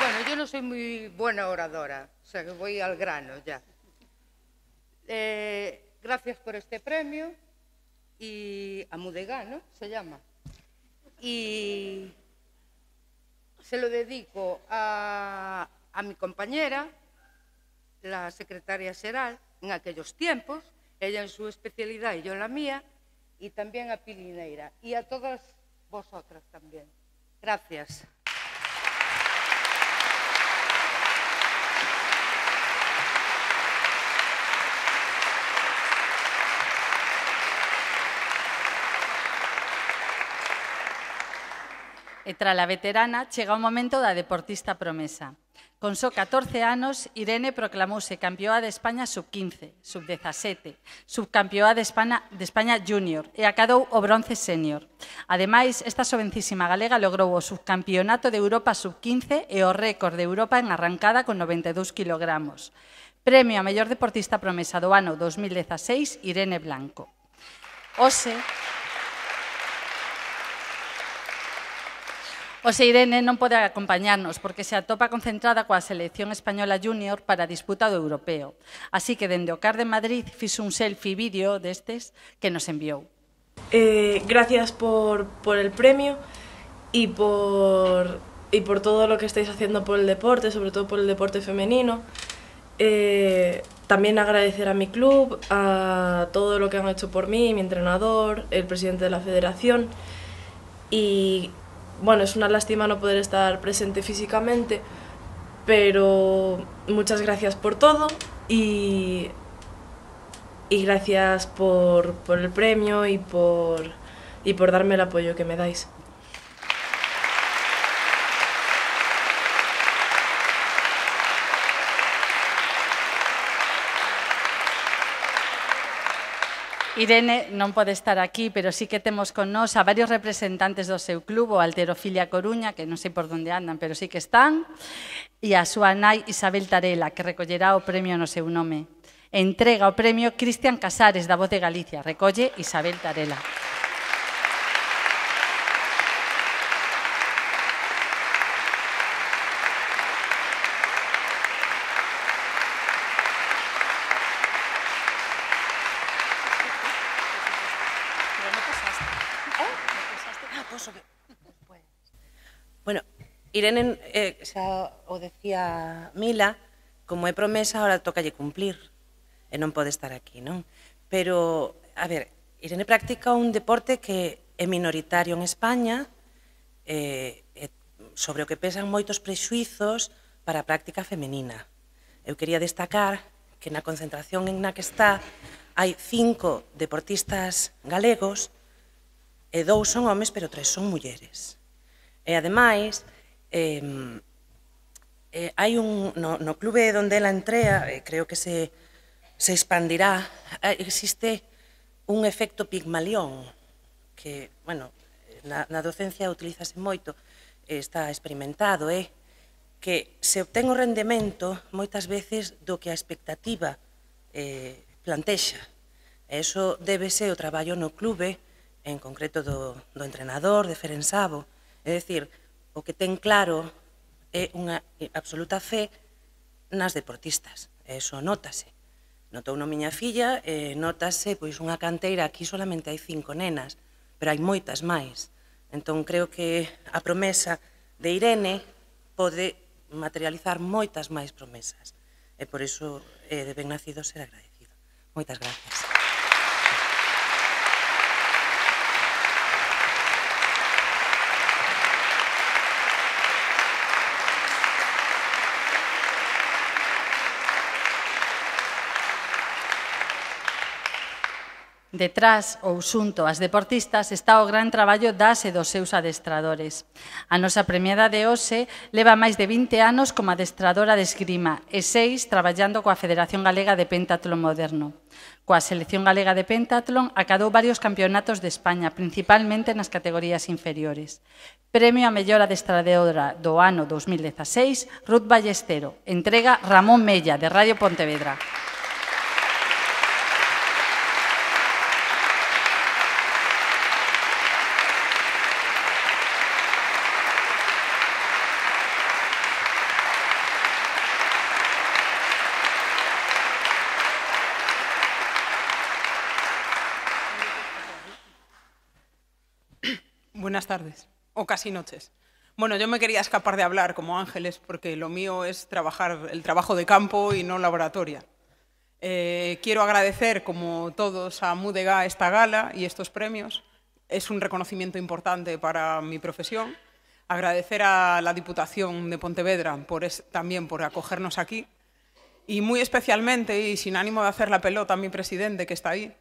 Bueno, yo no soy muy buena oradora, o sea que voy al grano ya. Gracias por este premio y a Mudegá, ¿no? Se llama. Y se lo dedico a mi compañera, la secretaria Seral, en aquellos tiempos, ella en su especialidad y yo en la mía, y también a Pilineira y a todas vosotras también. Gracias. E tras a veterana, chega o momento da deportista promesa. Con só 14 anos, Irene proclamouse campeoa de España sub-15, sub-17, subcampeoa de España junior e acadou o bronce senior. Ademais, esta jovencísima galega logrou o subcampeonato de Europa sub-15 e o récord de Europa en arrancada con 92 kilogramos. Premio a mellor deportista promesa do ano 2016, Irene Blanco. Hoxe Irene non pode acompañarnos porque se atopa concentrada coa selección española junior para a disputa do europeo. Así que dende o CAR de Madrid fixo un selfie vídeo destes que nos enviou. Gracias por el premio y por todo lo que estáis haciendo por el deporte, sobre todo por el deporte femenino. También agradecer a mi club, a todo lo que han hecho por mí, mi entrenador, el presidente de la federación. Y bueno, es una lástima no poder estar presente físicamente, pero muchas gracias por todo y gracias por el premio y por darme el apoyo que me dais. Irene non pode estar aquí, pero sí que temos con nós a varios representantes do seu club, o Halterofilia Coruña, que non sei por onde andan, pero sí que están, e a súa nai Isabel Tarela, que recollerá o premio no seu nome. Entrega o premio Cristian Casares, da Voz de Galicia. Recolle Isabel Tarela. Bueno, Irene, xa o decía Mila, como é promesa, ahora tócalle cumplir, e non pode estar aquí, non? Pero, a ver, Irene practica un deporte que é minoritario en España, sobre o que pesan moitos prexuizos para a práctica femenina. Eu quería destacar que na concentración en na que está hai 5 deportistas galegos e 2 son homes, pero 3 son mulleres. E, ademais, hai no clube onde ela entrea, creo que se expandirá, existe un efecto Pigmalión, que, bueno, na docencia utilízase moito, está experimentado, que se obtén o rendemento moitas veces do que a expectativa plantexa. E iso débese ao traballo no clube, en concreto do entrenador, de Ferensabo. É dicir, o que ten claro é unha absoluta fe nas deportistas. Eso nótase. Notou na miña filla, nótase pois unha canteira, aquí solamente hai 5 nenas, pero hai moitas máis. Entón creo que a promesa de Irene pode materializar moitas máis promesas. E por iso de ben nacido ser agradecido. Moitas gracias. Detrás ou xunto ás deportistas está o gran traballo das e dos seus adestradores. A nosa premiada de hoxe leva máis de 20 anos como adestradora de esgrima e 6 traballando coa Federación Galega de Pentatlón Moderno. Coa Selección Galega de Pentatlón acadou varios campeonatos de España, principalmente nas categorías inferiores. Premio a mellor adestradora do ano 2016, Ruth Ballestero. Entrega Ramón Mella, de Radio Pontevedra. Buenas tardes, o casi noches. Bueno, yo me quería escapar de hablar como Ángeles porque lo mío es trabajar el trabajo de campo y no laboratoria. Quiero agradecer, como todos, a Mudega esta gala y estos premios. Es un reconocimiento importante para mi profesión. Agradecer a la Diputación de Pontevedra también por acogernos aquí. Y muy especialmente, y sin ánimo de hacer la pelota a mi presidente que está ahí,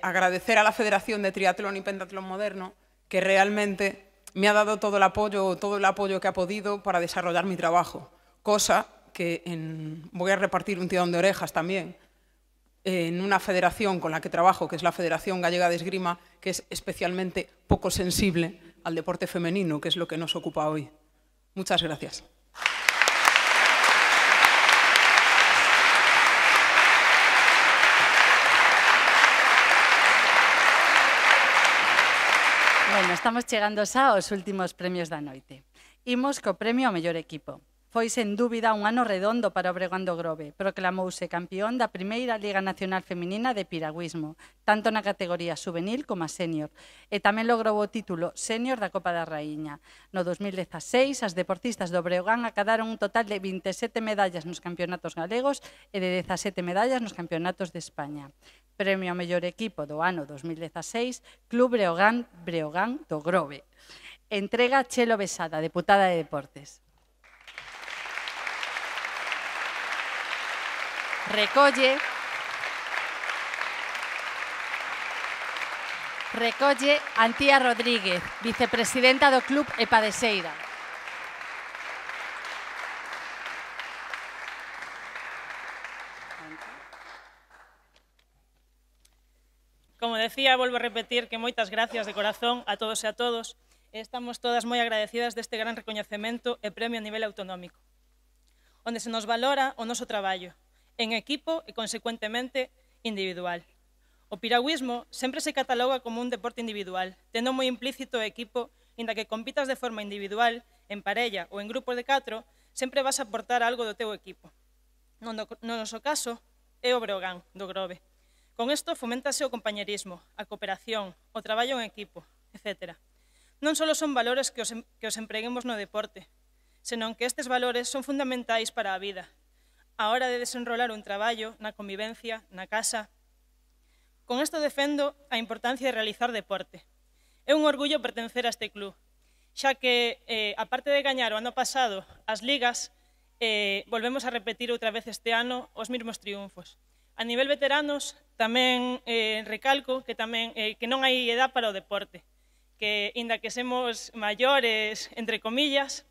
agradecer a la Federación de Triatlón y Pentatlón Moderno, que realmente me ha dado todo el apoyo que ha podido para desarrollar mi trabajo, cosa que voy a repartir un tirón de orejas también en una federación con la que trabajo, que es la Federación Gallega de Esgrima, que es especialmente poco sensible al deporte femenino, que es lo que nos ocupa hoy. Muchas gracias. Bueno, estamos chegando xa aos últimos premios da noite. Imos co premio ao mellor equipo. Foi, sen dúbida, un ano redondo para o Breogán do Grove. Proclamouse campeón da primeira Liga Nacional Feminina de piragüismo, tanto na categoría juvenil como a sénior, e tamén logrou o título sénior da Copa da Raíña. No 2016, as deportistas do Breogán acadaron un total de 27 medallas nos campeonatos galegos e de 17 medallas nos campeonatos de España. Premio ao mellor equipo do ano 2016, Club Breogán do Grove. Entrega Chelo Besada, deputada de Deportes. Recolle Antía Rodríguez, vicepresidenta do Club EPA de Seira. Como decía, volvo a repetir que moitas gracias de corazón a todos e a todos. Estamos todas moi agradecidas deste gran recoñecemento e premio a nivel autonómico, onde se nos valora o noso traballo, en equipo e, consecuentemente, individual. O piragüismo sempre se cataloga como un deporte individual, tendo moi implícito o equipo, inda que compitas de forma individual, en parella ou en grupos de 4, sempre vas a aportar algo do teu equipo. No noso caso, é o Breogán do Grove. Con isto foméntase o compañerismo, a cooperación, o traballo en equipo, etc. Non só son valores que os empreguemos no deporte, senón que estes valores son fundamentais para a vida, a hora de desenrolar un traballo na convivencia, na casa. Con isto defendo a importancia de realizar deporte. É un orgullo pertencer a este club, xa que, aparte de gañar o ano pasado as ligas, volvemos a repetir outra vez este ano os mesmos triunfos. A nivel veteranos, tamén recalco que non hai edad para o deporte, que, inda que semos maiores, entre comillas,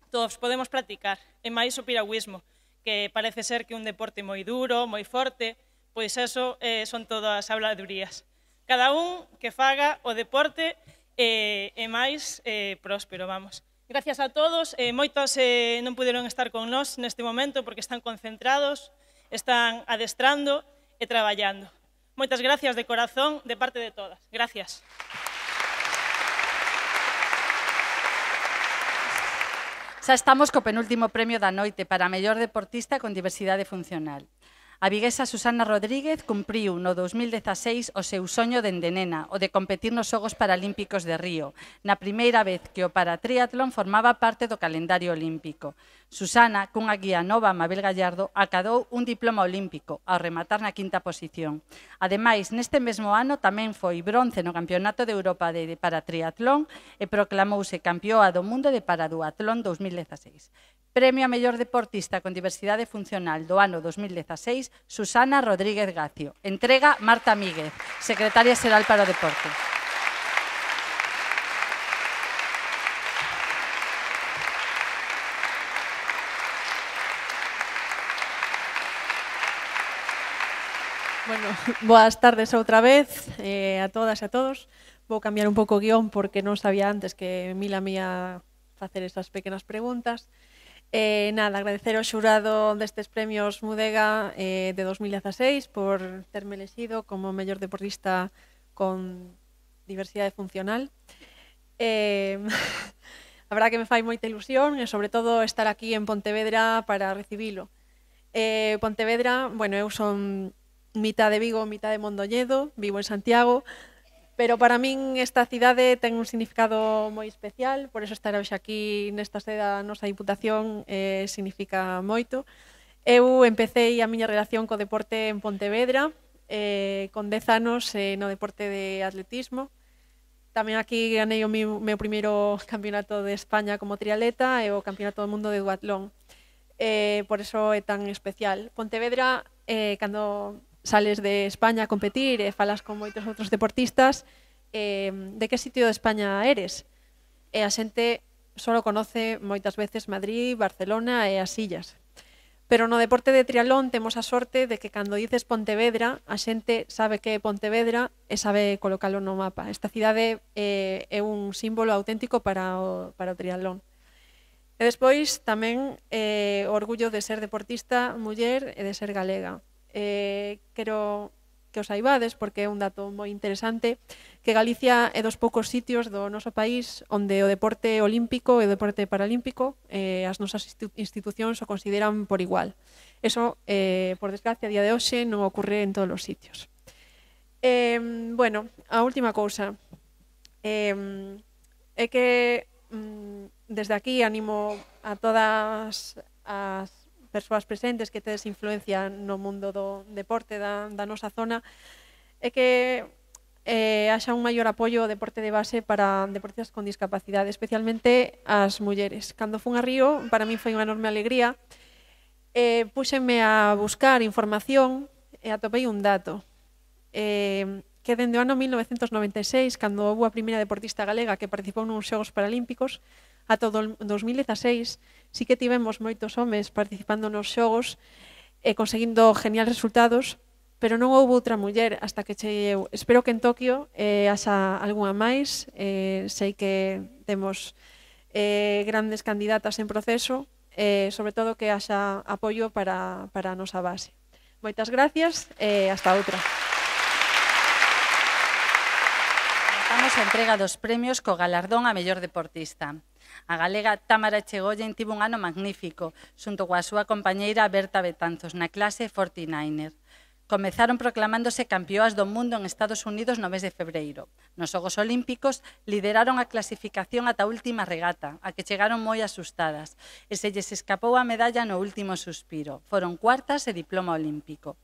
todos podemos practicar, e máis o piragüismo, que parece ser que é un deporte moi duro, moi forte, pois eso son todas habladurías. Cada un que faga o deporte e máis próspero, vamos. Gracias a todos, moitos non puderon estar con nós neste momento porque están concentrados, están adestrando e traballando. Moitas gracias de corazón de parte de todas. Gracias. Xa estamos co penúltimo premio da noite para a mellor deportista con diversidade funcional. A viguesa Susana Rodríguez cumpriu no 2016 o seu soño dende nena, o de competir nos Xogos Paralímpicos de Río, na primeira vez que o paratriatlón formaba parte do calendario olímpico. Susana, cunha guía nova, Mabel Gallardo, acadou un diploma olímpico ao rematar na 5ª posición. Ademais, neste mesmo ano tamén foi bronce no Campeonato de Europa de paratriatlón e proclamouse campeoa do mundo de paraduatlón 2016. Premio a mellor deportista con diversidade funcional do ano 2016, Susana Rodríguez Gacio. Entrega Marta Míguez, secretaria xeral para o deporte. Bueno, boas tardes outra vez a todas e a todos. Vou cambiar un pouco o guión porque non sabía antes que Mila me ia facer esas pequenas preguntas. Nada, agradecer ao xurado destes premios Mudega de 2016 por terme elexido como mellor deportista con diversidade funcional. A verdad que me fai moita ilusión e sobre todo estar aquí en Pontevedra para recibilo. Pontevedra, bueno, eu son mitad de Vigo, mitad de Mondoñedo, vivo en Santiago, pero para min esta cidade ten un significado moi especial, por eso estar hoxe aquí nesta sede da nosa Diputación significa moito. Eu empecé a miña relación co deporte en Pontevedra, con 10 anos no deporte de atletismo. Tamén aquí ganei o meu primeiro campeonato de España como triatleta e o campeonato do mundo de duatlón. Por eso é tan especial. Pontevedra, cando sales de España a competir e falas con moitos outros deportistas, de que sitio de España eres? E a xente só conoce moitas veces Madrid, Barcelona e as illas. Pero no deporte de triatlón temos a sorte de que cando dices Pontevedra, a xente sabe que é Pontevedra e sabe colocalo no mapa. Esta cidade é un símbolo auténtico para o triatlón. E despois tamén o orgullo de ser deportista muller e de ser galega. Quero que os saibades, porque é un dato moi interesante, que Galicia é dos poucos sitios do noso país onde o deporte olímpico e o deporte paralímpico as nosas institucións o consideran por igual. Eso, por desgracia, a día de hoxe non ocorre en todos os sitios. Bueno, a última cousa é que desde aquí animo a todas as persoas presentes que tedes influencia no mundo do deporte da nosa zona, é que haxa un maior apoio ao deporte de base para deportistas con discapacidade, especialmente as mulleres. Cando fun a Río, para min foi unha enorme alegría, puxenme a buscar información e atopei un dato, que dende o ano 1996, cando houve a primeira deportista galega que participou nos Xogos Paralímpicos, ata o 2016, sí que tivemos moitos homes participando nos xogos e conseguindo genial resultados, pero non houve outra muller hasta que cheguei eu. Espero que en Tokio haxa algunha máis. Sei que temos grandes candidatas en proceso, sobre todo que haxa apoio para a nosa base. Moitas gracias e hasta outra. Comezamos a entrega dos premios co galardón a mellor deportista. A galega Támara Echegoyen tivo un ano magnífico, xunto coa súa compañeira Berta Betanzos, na clase 49er. Comezaron proclamándose campeoas do mundo en Estados Unidos no mes de febreiro. Nos Xogos Olímpicos lideraron a clasificación ata a última regata, a que chegaron moi asustadas, e se lles escapou a medalla no último suspiro. Foron cuartas e diploma olímpico.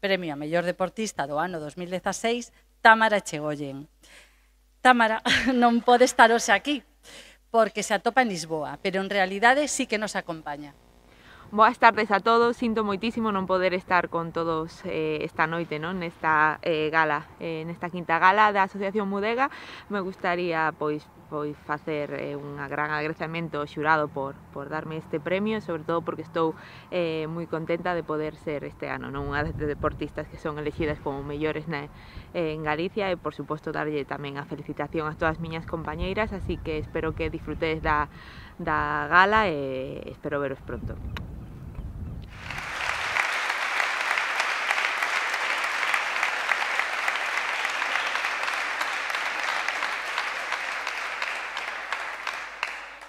Premio a mellor deportista do ano 2016, Támara Echegoyen. Támara non pode estar hoxe aquí, porque se atopa en Lisboa, pero en realidade sí que nos acompaña. Boas tardes a todos, sinto moitísimo non poder estar con todos esta noite, nesta gala, nesta quinta gala da Asociación Mudega. Me gustaría pois facer un gran agradecemento ao xurado por darme este premio, sobre todo porque estou moi contenta de poder ser este ano unha das deportistas que son elegidas como mellores en Galicia, e por suposto darlle tamén a felicitación a todas as miñas compañeiras, así que espero que disfrutedes da gala e espero veros pronto.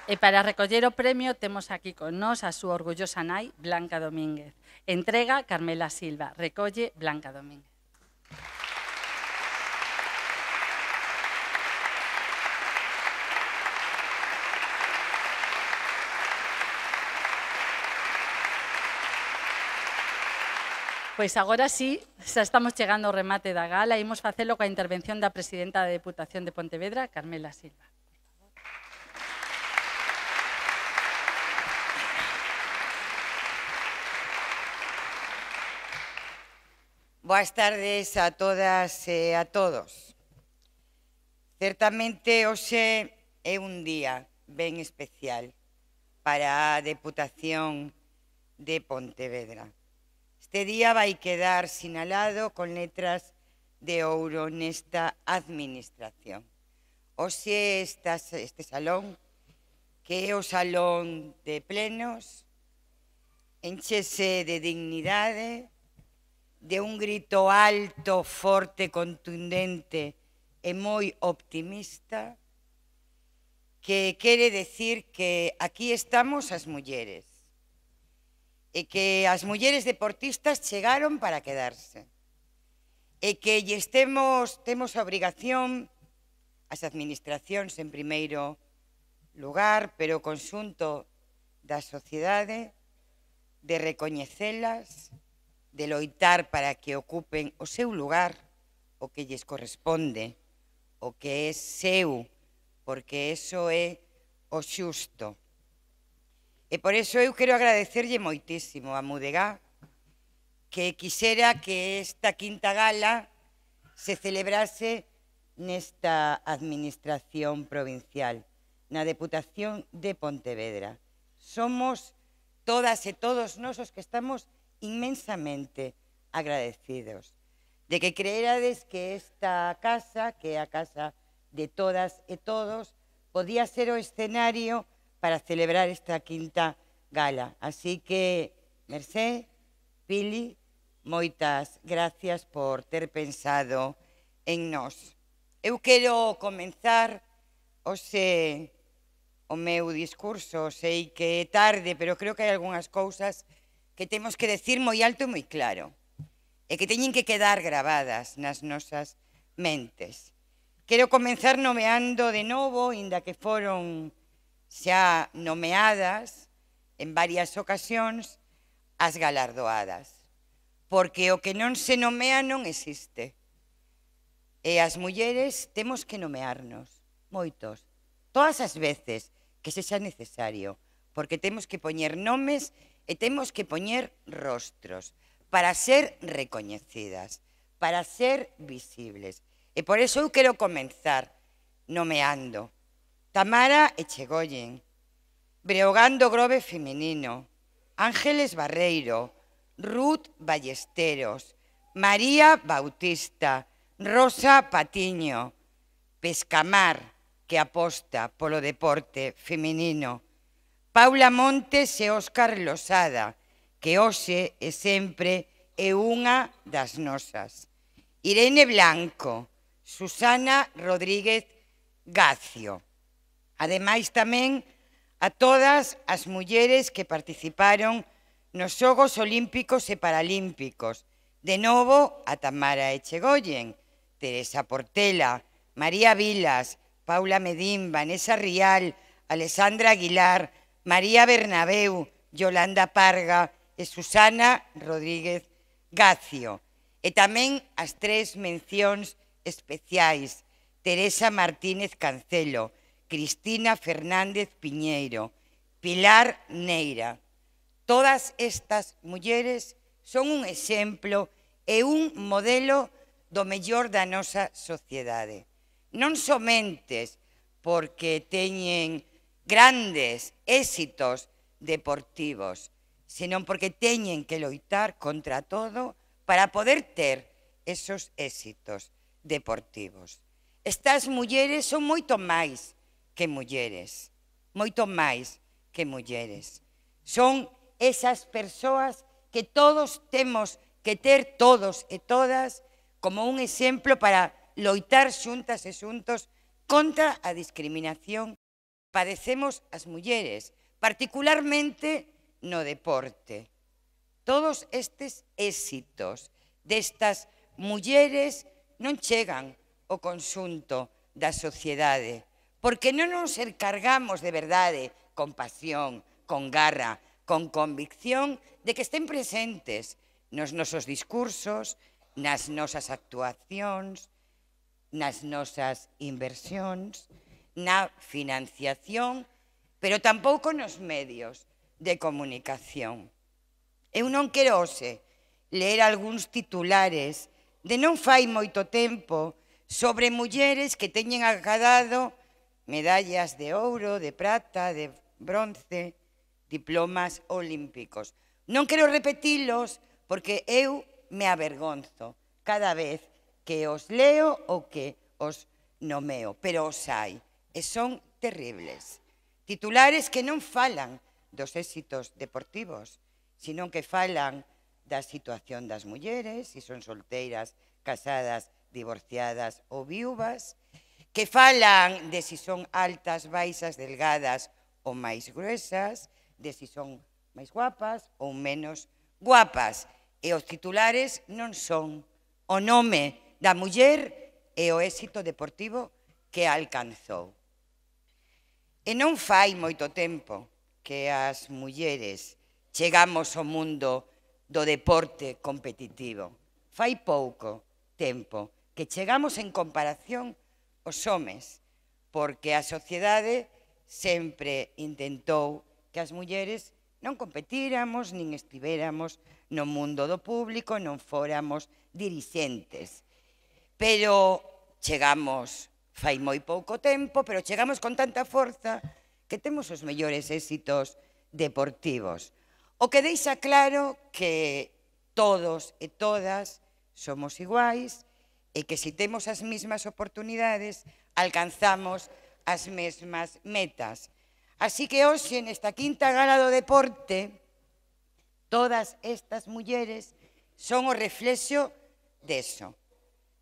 E para recoller o premio temos aquí con nós a súa orgullosa nai, Blanca Domínguez. Entrega Carmela Silva, recolle Blanca Domínguez. Pois agora sí, xa estamos chegando ao remate da gala e imos facelo coa intervención da presidenta da Deputación de Pontevedra, Carmela Silva. Boas tardes a todas e a todos. Certamente hoxe é un día ben especial para a Deputación de Pontevedra. Este día vai quedar sinalado con letras de ouro nesta administración. Hoxe este salón, que é o salón de plenos, enchese de dignidade, de un grito alto, forte, contundente e moi optimista, que quere decir que aquí estamos as mulleres e que as mulleres deportistas chegaron para quedarse e que temos a obrigación, as administracións en primeiro lugar, pero o conxunto da sociedade, de recoñecelas, de loitar para que ocupen o seu lugar, o que lles corresponde, o que é seu, porque eso é o xusto. E por iso eu quero agradecerlle moitísimo a Mudegá que quixera que esta quinta gala se celebrase nesta administración provincial, na Deputación de Pontevedra. Somos todas e todos nós os que estamos inmensamente agradecidos de que creerades que esta casa, que é a casa de todas e todos, podía ser o escenario para celebrar esta quinta gala. Así que, Mercé, Pili, moitas gracias por ter pensado en nós. Eu quero comenzar hoxe o meu discurso, sei que é tarde, pero creo que hai algunhas cousas que temos que decir moi alto e moi claro, e que teñen que quedar gravadas nas nosas mentes. Quero comenzar nomeando de novo, inda que foron xa nomeadas en varias ocasións, as galardoadas, porque o que non se nomea non existe. E as mulleres temos que nomearnos, moitos, todas as veces que sexa necesario, porque temos que poñer nomes e temos que poñer rostros para ser recoñecidas, para ser visibles. E por iso eu quero comenzar nomeando Tamara Echegoyen, Breogán do Grove Feminino, Ángeles Barreiro, Ruth Ballesteros, María Bautista, Rosa Patiño, Pescamar, que aposta polo deporte feminino, Paula Montes e Óscar Losada, que hoxe e sempre é unha das nosas. Irene Blanco, Susana Rodríguez Gacio. Ademais tamén a todas as mulleres que participaron nos Xogos Olímpicos e Paralímpicos. De novo a Tamara Echegoyen, Teresa Portela, María Vilas, Paula Medín, Vanessa Rial, Alessandra Aguilar, María Bernabeu, Yolanda Parga e Susana Rodríguez Gacio. E tamén as tres mencións especiais, Teresa Martínez Cancelo, Cristina Fernández Piñeiro, Pilar Neira. Todas estas mulleres son un exemplo e un modelo do mellor da nosa sociedade. Non somente porque teñen grandes éxitos deportivos, senón porque teñen que loitar contra todo para poder ter esos éxitos deportivos. Estas mulleres son moito máis que mulleres, moito máis que mulleres. Son esas persoas que todos temos que ter, todos e todas, como un exemplo para loitar xuntas e xuntos contra a discriminación que padecemos as mulleres, particularmente no deporte. Todos estes éxitos destas mulleres non chegan ao conxunto da sociedade, porque non nos encargamos de verdade, con pasión, con garra, con convicción, de que estén presentes nos nosos discursos, nas nosas actuacións, nas nosas inversións, na financiación, pero tampouco nos medios de comunicación. Eu non quero hoxe ler algúns titulares de non fai moito tempo sobre mulleres que teñen acadado medallas de ouro, de prata, de bronce, diplomas olímpicos. Non quero repetilos porque eu me avergonzo cada vez que os leo ou que os nomeo, pero os hai, e son terribles. Titulares que non falan dos éxitos deportivos, sino que falan da situación das mulleres, se son solteiras, casadas, divorciadas ou viúvas, que falan de si son altas, baixas, delgadas ou máis gruesas, de si son máis guapas ou menos guapas. E os titulares non son o nome da muller e o éxito deportivo que alcanzou. E non fai moito tempo que as mulleres chegamos ao mundo do deporte competitivo. Fai pouco tempo que chegamos en comparación aos homes, porque a sociedade sempre intentou que as mulleres non competíramos, nin estivéramos no mundo do público, non fóramos dirixentes. Pero chegamos fai moi pouco tempo, pero chegamos con tanta forza que temos os mellores éxitos deportivos. O que deixa claro que todos e todas somos iguais e que se temos as mesmas oportunidades, alcanzamos as mesmas metas. Así que hoxe, nesta quinta gala do deporte, todas estas mulleres son o reflexo deso,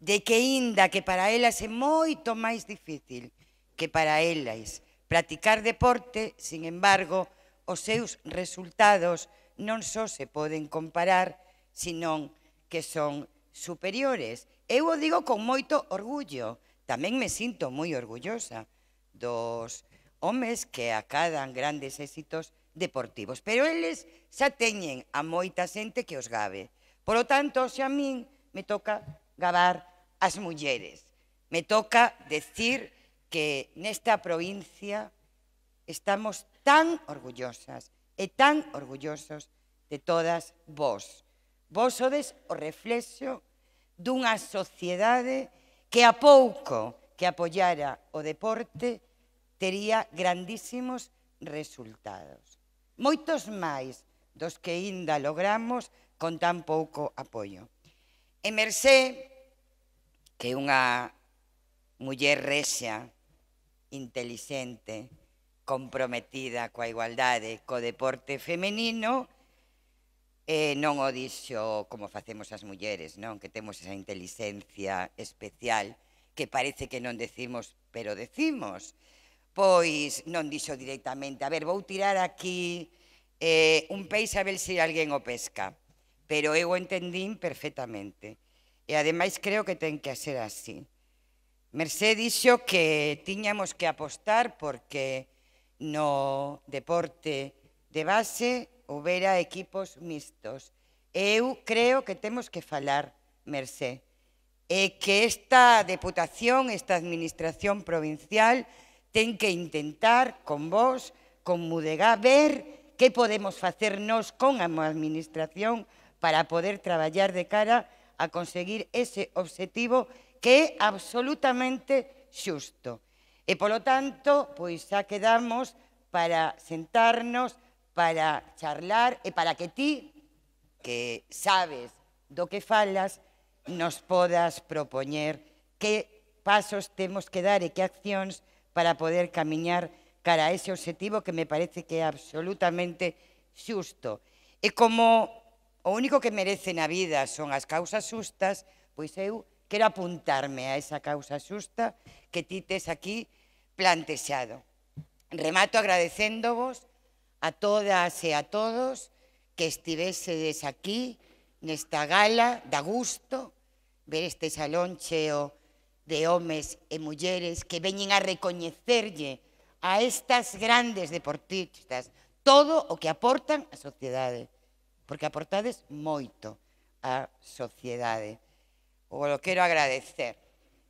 de que inda que para elas é moito máis difícil que para elas practicar deporte, sin embargo, os seus resultados non só se poden comparar, senón que son superiores. Eu o digo con moito orgullo, tamén me sinto moi orgullosa dos homes que acadan grandes éxitos deportivos, pero eles xa teñen a moita xente que os gabe. Por lo tanto, xa a min me toca gabar as mulleres. Me toca decir que nesta provincia estamos tan orgullosas e tan orgullosos de todas vós. Vós sodes o reflexo dunha sociedade que a pouco que apoiara o deporte tería grandísimos resultados. Moitos máis dos que ainda logramos con tan pouco apoio. E Mercé, que é unha muller rexia, intelixente, comprometida coa igualdade, co deporte femenino, non o dixo como facemos as mulleres, non? Que temos esa intelixencia especial que parece que non decimos, pero decimos. Pois non dixo directamente, a ver, vou tirar aquí un peixe a ver se alguén o pesca. Pero eu o entendín perfectamente. E ademais creo que ten que ser así. Mercé dixo que tiñamos que apostar porque no deporte de base houbera equipos mixtos. Eu creo que temos que falar, Mercé, e que esta deputación, esta administración provincial, ten que intentar con vos, con Mudegá, ver que podemos facer nós con a administración para poder traballar de cara a conseguir ese obxectivo que é absolutamente xusto. E, polo tanto, pois xa quedamos para sentarnos, para charlar e para que ti, que sabes do que falas, nos podas propoñer que pasos temos que dar e que accións para poder camiñar cara a ese obxectivo que me parece que é absolutamente xusto. E como o único que merece na vida son as causas xustas, pois eu quero apuntarme a esa causa xusta que ti tes aquí plantexado. Remato agradecéndovos a todas e a todos que estivésedes aquí nesta gala, da gusto ver este salón cheo de homes e mulleres que veñen a recoñecerlle a estas grandes deportistas todo o que aportan á sociedade, porque aportades moito á sociedade. O lo quero agradecer.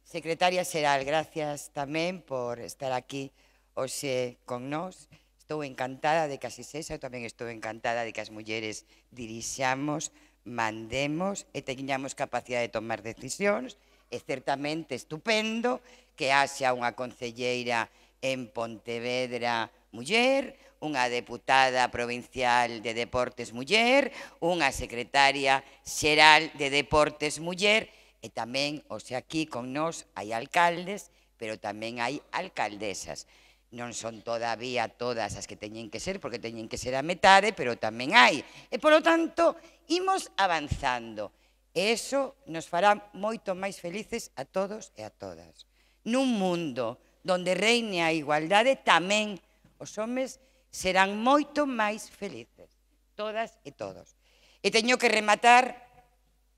Secretaria Xeral, gracias tamén por estar aquí hoxe con nós. Estou encantada de que así sexa, eu tamén estou encantada de que as mulleres dirixamos mandemos e teñamos capacidade de tomar decisións. É certamente estupendo que haxa unha concelleira en Pontevedra muller, unha deputada provincial de Deportes muller, unha secretaria xeral de Deportes muller, e tamén, o sea, aquí con nós hai alcaldes, pero tamén hai alcaldesas. Non son todavía todas as que teñen que ser, porque teñen que ser a metade, pero tamén hai. E, polo tanto, imos avanzando. E iso nos fará moito máis felices a todos e a todas. Nun mundo donde reine a igualdade, tamén os homes serán moito máis felices, todas e todos. E teño que rematar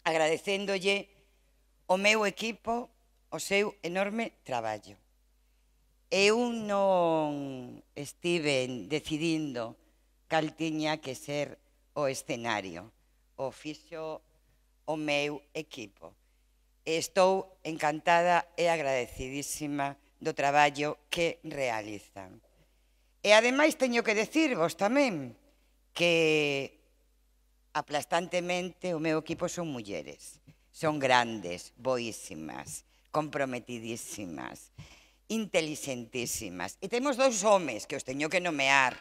agradecéndolle ao meu equipo o seu enorme traballo. Eu non estive decidindo cal tiña que ser o escenario, o fixo o meu equipo. Estou encantada e agradecidísima do traballo que realizan. E ademais teño que decirvos tamén que aplastantemente o meu equipo son mulleres. Son grandes, boísimas, comprometidísimas, inteligentísimas. E temos 2 homes que os teño que nomear,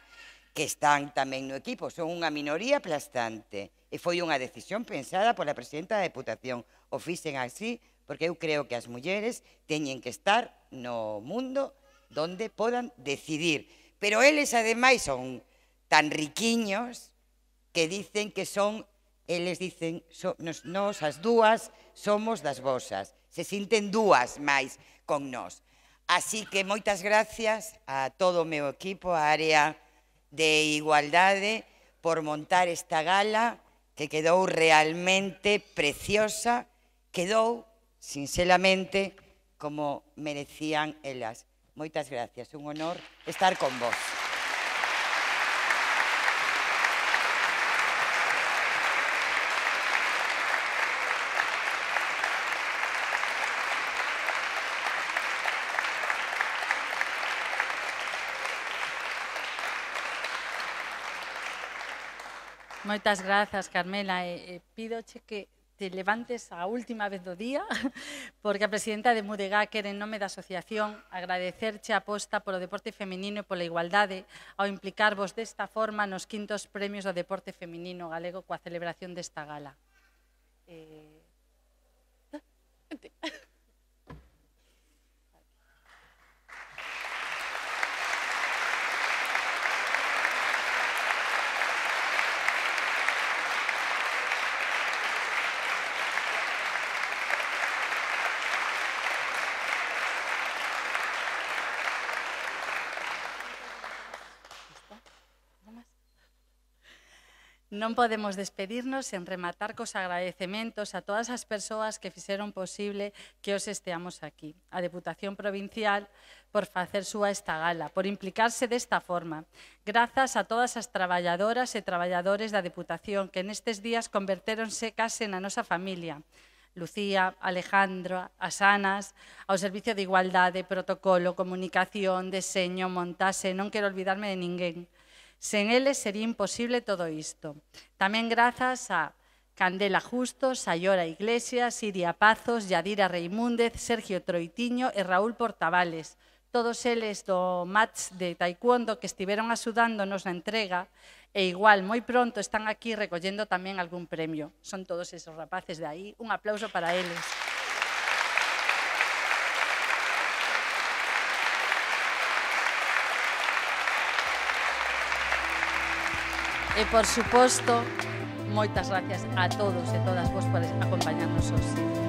que están tamén no equipo. Son unha minoría aplastante. E foi unha decisión pensada pola presidenta da Deputación. O fixen así porque eu creo que as mulleres teñen que estar no mundo donde podan decidir. Pero eles, ademais, son tan riquiños que dicen que son, eles dicen, nós as dúas somos das vosas. Se sinten dúas máis con nós. Así que moitas gracias a todo o meu equipo, a área de igualdade, por montar esta gala que quedou realmente preciosa, quedou, sinceramente, como merecían elas. Moitas gracias, un honor estar con vos. Moitas grazas, Carmela. Pídoche que te levantes a última vez do día, porque a presidenta de Mudegá quere en nome da asociación agradecerche a aposta polo deporte feminino e pola igualdade ao implicarvos desta forma nos 5º premios do deporte feminino galego coa celebración desta gala. Non podemos despedirnos sen rematar cos agradecementos a todas as persoas que fixeron posible que os esteamos aquí. A Deputación Provincial por facer súa esta gala, por implicarse desta forma. Grazas a todas as traballadoras e traballadores da Deputación que nestes días convertéronse case na nosa familia. Lucía, Alejandro, as Anas, ao Servicio de Igualdade, Protocolo, Comunicación, Deseño, Montaxe, non quero olvidarme de ninguén. Sen eles sería imposible todo isto. Tamén grazas a Candela Justos, Sayora Iglesias, Iria Pazos, Yadira Reimúndez, Sergio Troitiño e Raúl Portavales. Todos eles do match de taekwondo que estiveron axudándonos na entrega e igual moi pronto están aquí recollendo tamén algún premio. Son todos esos rapaces de aí. Un aplauso para eles. E, por suposto, moitas gracias a todos e todas vos por acompañarnos hoxe.